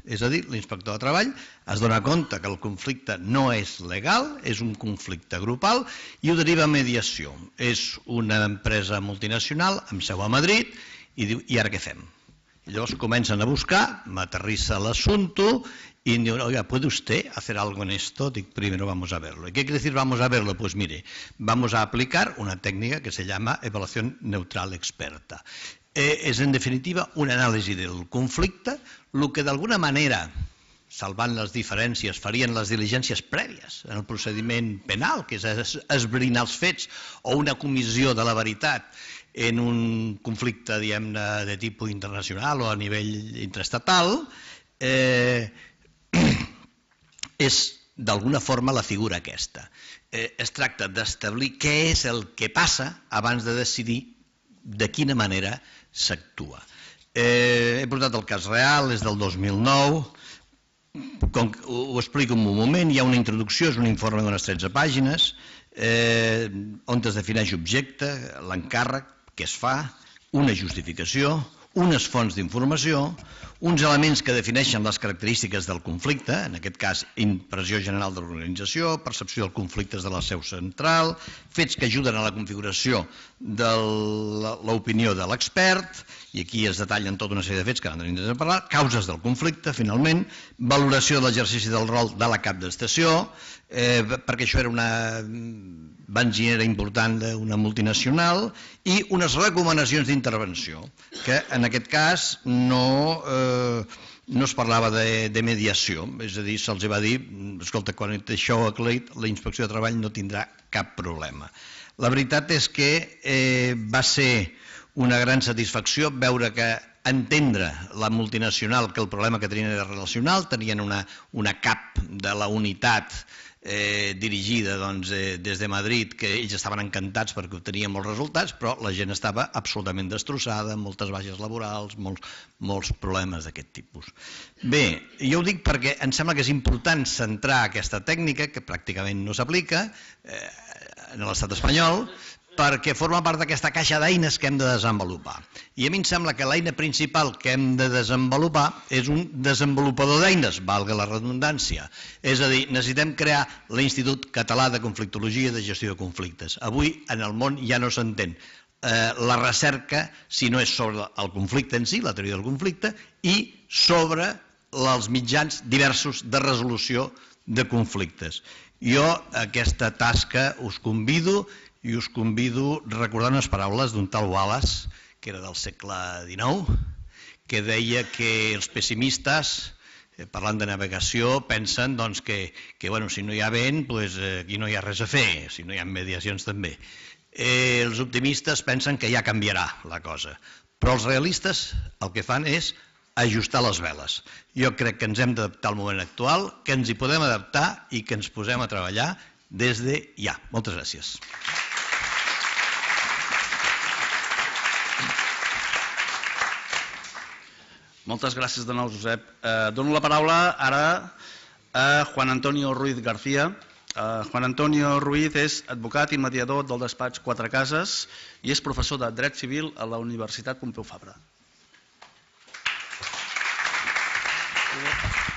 És a dir, l'inspector de treball es dona compte que el conflicte no és legal, és un conflicte grupal, i ho deriva a mediació. És una empresa multinacional amb seu a Madrid i diu, i ara què fem? I llavors comencen a buscar, m'aterrissa l'assumpto y digo, oiga, ¿puede usted hacer algo en esto? Digo, primero vamos a verlo. ¿Y qué quiere decir vamos a verlo? Pues mire, vamos a aplicar una técnica que se llama evaluación neutral experta. És, en definitiva, un anàlisi del conflicte, el que d'alguna manera, salvant les diferències, farien les diligències prèvies en el procediment penal, que és esbrinar els fets, o una comissió de la veritat en un conflicte, diguem-ne, de tipus internacional o a nivell intraestatal, és d'alguna forma la figura aquesta. Es tracta d'establir què és el que passa abans de decidir de quina manera s'actua. He portat el cas real, és del 2009, ho explico en un moment, hi ha una introducció, és un informe d'unes 13 pàgines, on es defineix objecte, l'encàrrec, què es fa, una justificació, unes fonts d'informació, uns elements que defineixen les característiques del conflicte, en aquest cas impressió general de l'organització, percepció dels conflictes de la seu central, fets que ajuden a la configuració de l'opinió de l'expert, i aquí es detallen tota una sèrie de fets que no tenim de parlar, causes del conflicte, finalment, valoració de l'exercici del rol de la cap d'estació, perquè això era una benzinera important d'una multinacional, i unes recomanacions d'intervenció, que en aquest cas no es parlava de mediació, és a dir, se'ls va dir, escolta, quan això ho aclarit, la inspecció de treball no tindrà cap problema. La veritat és que va ser una gran satisfacció veure que entendre la multinacional que el problema que tenien era relacional, tenien una cap de la unitat dirigida des de Madrid, que ells estaven encantats perquè obtenien molts resultats, però la gent estava absolutament destrossada, moltes baixes laborals, molts problemes d'aquest tipus. Bé, jo ho dic perquè em sembla que és important centrar aquesta tècnica, que pràcticament no s'aplica en l'estat espanyol, perquè forma part d'aquesta caixa d'eines que hem de desenvolupar. I a mi em sembla que l'eina principal que hem de desenvolupar és un desenvolupador d'eines, valga la redundància. És a dir, necessitem crear l'Institut Català de Conflictologia i de Gestió de Conflictes. Avui en el món ja no s'entén la recerca si no és sobre el conflicte en si, la teoria del conflicte, i sobre els mitjans diversos de resolució de conflictes. Jo aquesta tasca us convido i us convido a recordar unes paraules d'un tal Wallace, que era del segle XIX, que deia que els pessimistes, parlant de navegació, pensen que si no hi ha vent, aquí no hi ha res a fer, si no hi ha mediacions també. Els optimistes pensen que ja canviarà la cosa, però els realistes el que fan és ajustar les veles. Jo crec que ens hem d'adaptar al moment actual, que ens hi podem adaptar i que ens posem a treballar des de ja. Moltes gràcies. Moltes gràcies de nou, Josep. Dono la paraula ara a Juan Antonio Ruiz García. Juan Antonio Ruiz és advocat i mediador del despatx Quatre Cases i és professor de Dret Civil a la Universitat Pompeu Fabra.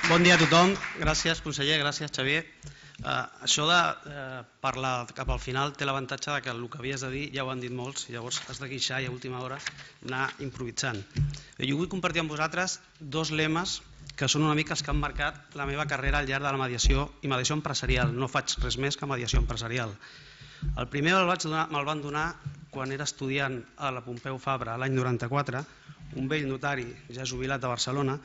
Bon dia a tothom. Gràcies, conseller. Gràcies, Xavier. Això de parlar cap al final té l'avantatge que el que havies de dir ja ho han dit molts, llavors has de guixar i a última hora anar improvisant. Jo vull compartir amb vosaltres dos lemes que són una mica els que han marcat la meva carrera al llarg de la mediació i mediació empresarial. No faig res més que mediació empresarial. El primer me'l van donar quan era estudiant a la Pompeu Fabra l'any 94, un vell notari ja jubilat a Barcelona,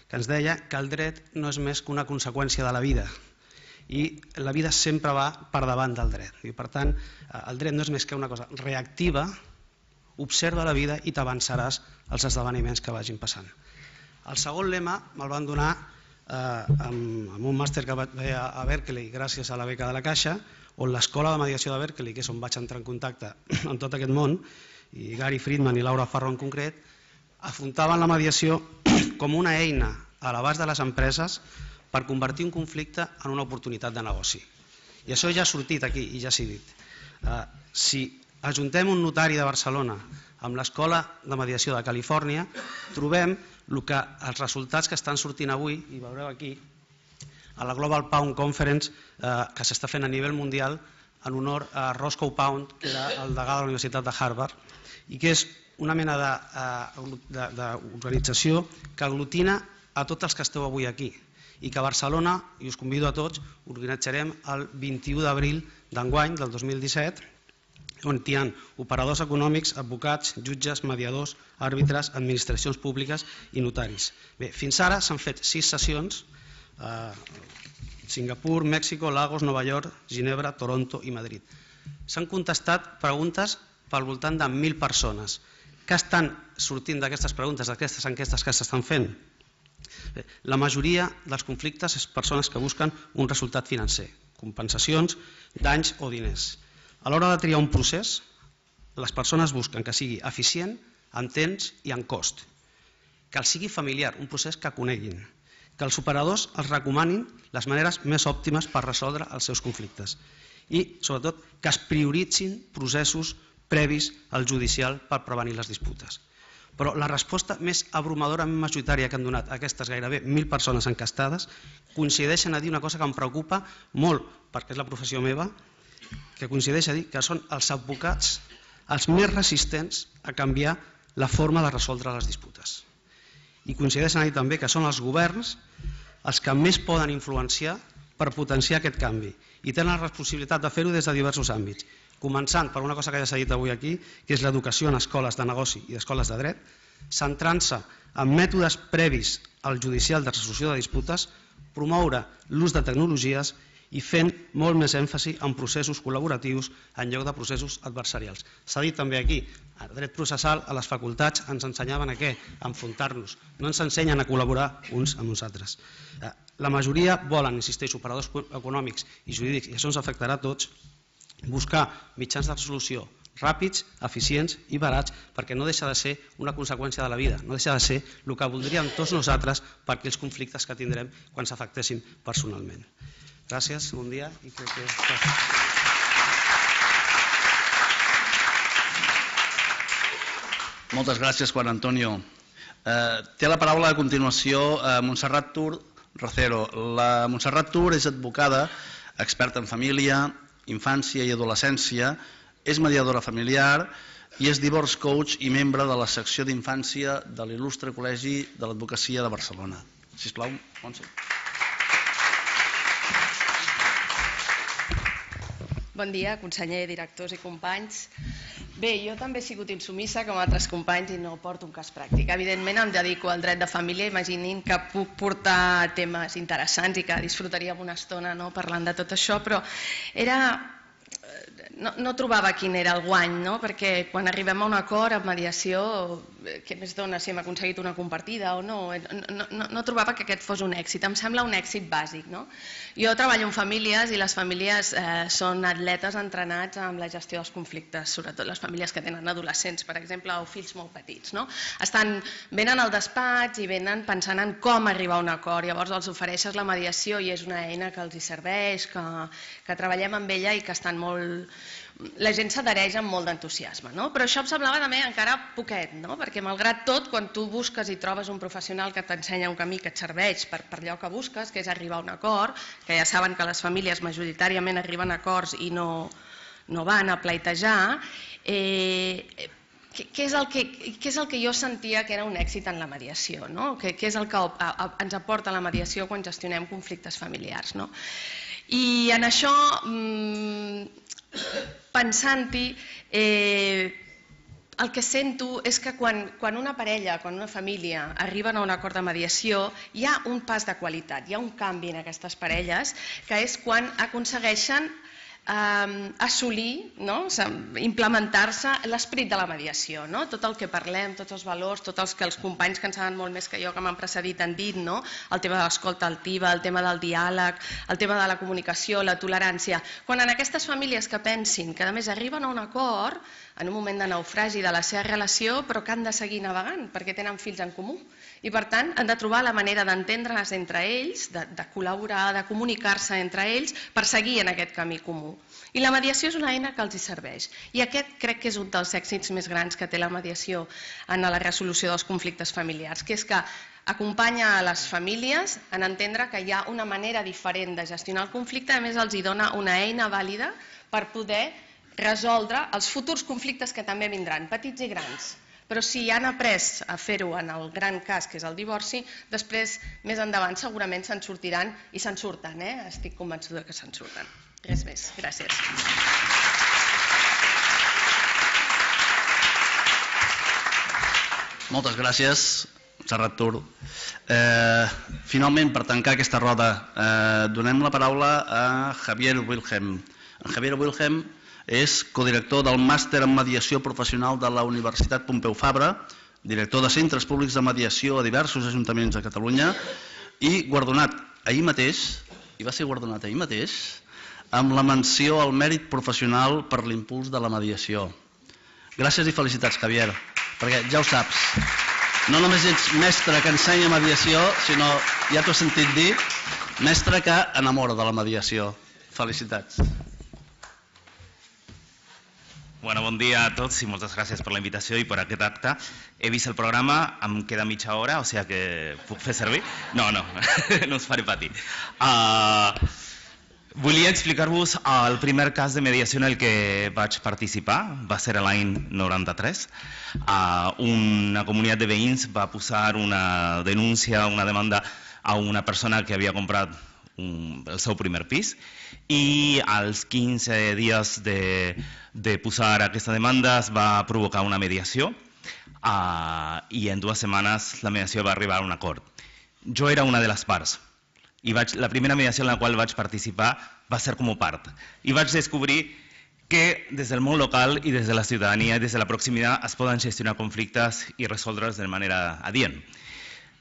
que ens deia que el dret no és més que una conseqüència de la vida i la vida sempre va per davant del dret. I per tant, el dret no és més que una cosa reactiva, observa la vida i t'avançaràs als esdeveniments que vagin passant. El segon lema me'l van donar amb un màster que vaig fer a Berkeley gràcies a la beca de la Caixa, on l'escola de mediació de Berkeley, que és on vaig entrar en contacte amb tot aquest món, i Gary Friedman i Laura Farro en concret, afrontaven la mediació com una eina a l'abast de les empreses per convertir un conflicte en una oportunitat de negoci. I això ja ha sortit aquí i ja s'ha dit. Si ajuntem un notari de Barcelona amb l'Escola de Mediació de Califòrnia, trobem els resultats que estan sortint avui, i veureu aquí, a la Global Pound Conference que s'està fent a nivell mundial en honor a Roscoe Pound, que era el degà de la Universitat de Harvard, i que és una mena d'organització que aglutina a tots els que esteu avui aquí, i que a Barcelona, i us convido a tots, organitzarem el 21 d'abril d'enguany, del 2017, on hi ha operadors econòmics, advocats, jutges, mediadors, àrbitres, administracions públiques i notaris. Bé, fins ara s'han fet 6 sessions, Singapur, Mèxic, Lagos, Nova York, Ginebra, Toronto i Madrid. S'han contestat preguntes pel voltant de 1.000 persones. Què estan sortint d'aquestes preguntes, d'aquestes enquestes que s'estan fent? Bé, la majoria dels conflictes és persones que busquen un resultat financer, compensacions, danys o diners. A l'hora de triar un procés, les persones busquen que sigui eficient, en temps i en cost, que els sigui familiar, un procés que coneguin, que els operadors els recomanin les maneres més òptimes per resoldre els seus conflictes i, sobretot, que es prioritzin processos previs al judicial per prevenir les disputes. Però la resposta més abrumadora, més majoritària que han donat aquestes gairebé 1.000 persones encastades coincideixen a dir una cosa que em preocupa molt, perquè és la professió meva, que coincideix a dir que són els advocats els més resistents a canviar la forma de resoldre les disputes. I coincideixen a dir també que són els governs els que més poden influenciar per potenciar aquest canvi i tenen la responsabilitat de fer-ho des de diversos àmbits, començant per una cosa que ja s'ha dit avui aquí, que és l'educació en escoles de negoci i escoles de dret, centrant-se en mètodes previs al judicial de resolució de disputes, promoure l'ús de tecnologies i fent molt més èmfasi en processos col·laboratius en lloc de processos adversarials. S'ha dit també aquí, a dret processal, a les facultats ens ensenyaven a què? A enfrontar-nos. No ens ensenyen a col·laborar uns amb uns altres. La majoria volen, insisteix, operadors econòmics i jurídics, i això ens afectarà a tots, buscar mitjans de resolució ràpids, eficients i barats, perquè no deixa de ser una conseqüència de la vida, no deixa de ser el que voldríem tots nosaltres per aquells conflictes que tindrem quan s'afectessin personalment. Gràcies, bon dia. Moltes gràcies, Juan Antonio. Té la paraula a continuació Montserrat Tur Rocero. La Montserrat Tur és advocada, experta en família, infància i adolescència, és mediadora familiar i és divorce coach i membre de la secció d'infància de l'il·lustre Col·legi de l'Advocacia de Barcelona. Sisplau, Montse. Bon dia, conseller, directors i companys. Bé, jo també he sigut insumissa com altres companys i no porto un cas pràctic. Evidentment em dedico al dret de família, imaginin que puc portar temes interessants i que disfrutaríem una estona parlant de tot això, però no trobava quin era el guany, perquè quan arribem a un acord en mediació, què més dona si hem aconseguit una compartida o no? No trobava que aquest fos un èxit, em sembla un èxit bàsic. Jo treballo en famílies i les famílies són atletes entrenats en la gestió dels conflictes, sobretot les famílies que tenen adolescents, per exemple, o fills molt petits. Venen al despatx i venen pensant en com arribar a un acord, llavors els ofereixes la mediació i és una eina que els hi serveix, que treballem amb ella i que estan molt... La gent s'adhereix amb molt d'entusiasme, però això em semblava també encara poquet, perquè malgrat tot, quan tu busques i trobes un professional que t'ensenya un camí que et serveix per allò que busques, que és arribar a un acord, que ja saben que les famílies majoritàriament arriben a acords i no van a pleitejar, què és el que jo sentia que era un èxit en la mediació? Què és el que ens aporta la mediació quan gestionem conflictes familiars? I en això, pensant-hi, el que sento és que quan una parella, quan una família arriben a un acord de mediació, hi ha un pas de qualitat, hi ha un canvi en aquestes parelles, que és quan aconsegueixen assolir, implementar-se l'esperit de la mediació, tot el que parlem, tots els valors, tots els que els companys que en saben molt més que jo, que m'han precedit, han dit, el tema de l'escolta altiva, el tema del diàleg, el tema de la comunicació, la tolerància. Quan en aquestes famílies que pensin que a més arriben a un acord, en un moment de naufragi de la seva relació, però que han de seguir navegant perquè tenen fills en comú. I per tant han de trobar la manera d'entendre's entre ells, de col·laborar, de comunicar-se entre ells per seguir en aquest camí comú. I la mediació és una eina que els hi serveix. I aquest crec que és un dels èxits més grans que té la mediació en la resolució dels conflictes familiars, que és que acompanya a les famílies en entendre que hi ha una manera diferent de gestionar el conflicte, a més els hi dona una eina vàlida per poder resoldre els futurs conflictes que també vindran, petits i grans. Però si han après a fer-ho en el gran cas, que és el divorci, després, més endavant, segurament se'n sortiran i se'n surten. Estic convençuda que se'n surten. Res més. Gràcies. Moltes gràcies, Serrat Tur. Finalment, per tancar aquesta roda, donem la paraula a Javier Wilhelm. En Javier Wilhelm és codirector del Màster en Mediació Professional de la Universitat Pompeu Fabra, director de centres públics de mediació a diversos ajuntaments de Catalunya i guardonat ahir mateix, i va ser guardonat ahir mateix, amb la menció al mèrit professional per l'impuls de la mediació. Gràcies i felicitats, Javier, perquè ja ho saps, no només ets mestre que ensenya mediació, sinó, ja t'ho he sentit dir, mestre que enamora de la mediació. Felicitats. Bueno, bon dia a tots i moltes gràcies per la invitació i per aquest acte. He vist el programa, em queda mitja hora, o sigui que puc fer servir? No, no us faré patir. Volia explicar-vos el primer cas de mediació en el que vaig participar, va ser l'any 93. Una comunitat de veïns va posar una denúncia, una demanda a una persona que havia comprat el seu primer pis i als 15 dies de posar aquesta demanda es va provocar una mediació i en 2 setmanes la mediació va arribar a un acord. Jo era una de les parts i la primera mediació en la qual vaig participar va ser com a part i vaig descobrir que des del món local i des de la ciutadania i des de la proximitat es poden gestionar conflictes i resoldre'ls de manera adient.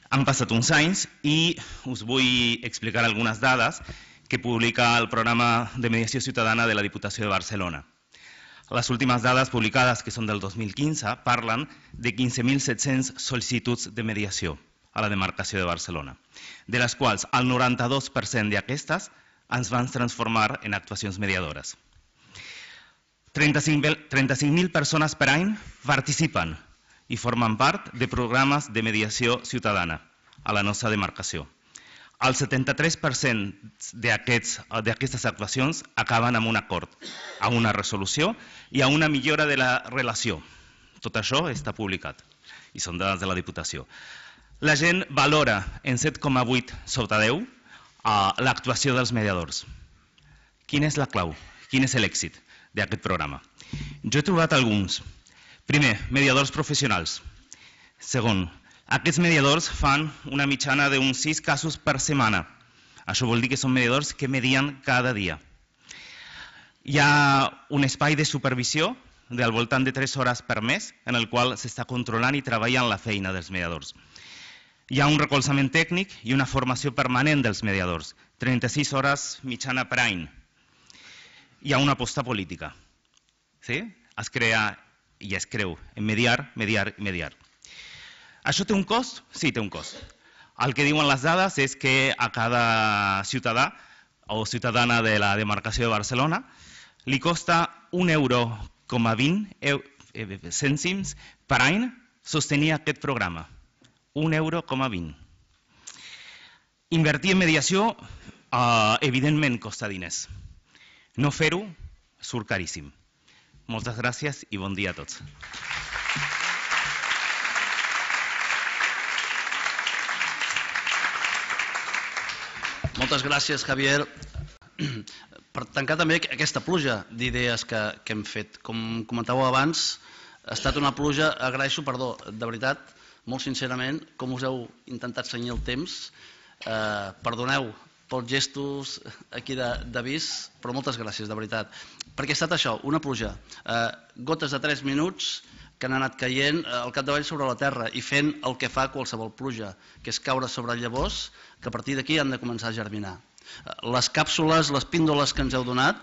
Han passat uns anys i us vull explicar algunes dades que publica el programa de mediació ciutadana de la Diputació de Barcelona. Les últimes dades publicades, que són del 2015, parlen de 15.700 sol·licituds de mediació a la demarcació de Barcelona, de les quals el 92% d'aquestes ens van transformar en actuacions mediadores. 35.000 persones per any participen i formen part de programes de mediació ciutadana a la nostra demarcació. El 73% d'aquestes actuacions acaben amb un acord, amb una resolució i amb una millora de la relació. Tot això està publicat i són dades de la Diputació. La gent valora en 7,8 sobre 10 l'actuació dels mediadors. Quina és la clau? Quin és l'èxit d'aquest programa? Jo he trobat alguns. Primer, mediadors professionals. Segon, aquests mediadors fan una mitjana d'uns 6 casos per setmana. Això vol dir que són mediadors que medien cada dia. Hi ha un espai de supervisió del voltant de 3 hores per mes en el qual s'està controlant i treballant la feina dels mediadors. Hi ha un recolzament tècnic i una formació permanent dels mediadors, 36 hores mitjana per any. Hi ha una aposta política. Es crea i es creu en mediar, mediar i mediar. Això té un cost? Sí, té un cost. El que diuen les dades és que a cada ciutadà o ciutadana de la demarcació de Barcelona li costa 1,20 cèntims per any sostenir aquest programa. 1,20 €. Invertir en mediació, evidentment, costa diners. No fer-ho surt caríssim. Moltes gràcies i bon dia a tots. Moltes gràcies, Javier. Per tancar també aquesta pluja d'idees que hem fet. Com comentàveu abans, ha estat una pluja, agraeixo, perdó, de veritat, molt sincerament, com us heu intentat cenyir el temps. Perdoneu pels gestos aquí d'avís, però moltes gràcies, de veritat. Perquè ha estat això, una pluja. Gotes de 3 minuts que han anat caient al capdavall sobre la terra i fent el que fa qualsevol pluja, que és caure sobre llavors que a partir d'aquí han de començar a germinar. Les càpsules, les píndoles que ens heu donat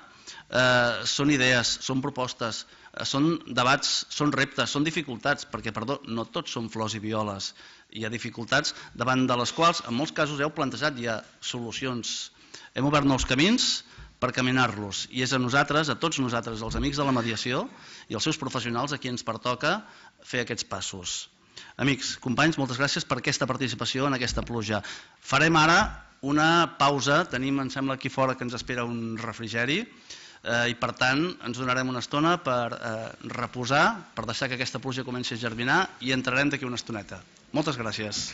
són idees, són propostes, són debats, són reptes, són dificultats, perquè, perdó, no tots són flors i violes. Hi ha dificultats davant de les quals, en molts casos heu plantejat ja solucions. Hem obert nous camins per caminar-los i és a nosaltres, a tots nosaltres, els amics de la mediació i els seus professionals, a qui ens pertoca fer aquests passos. Amics, companys, moltes gràcies per aquesta participació en aquesta pluja. Farem ara una pausa, tenim, em sembla, aquí fora que ens espera un refrigeri i per tant ens donarem una estona per reposar, per deixar que aquesta pluja comenci a germinar i entrarem d'aquí una estoneta. Moltes gràcies.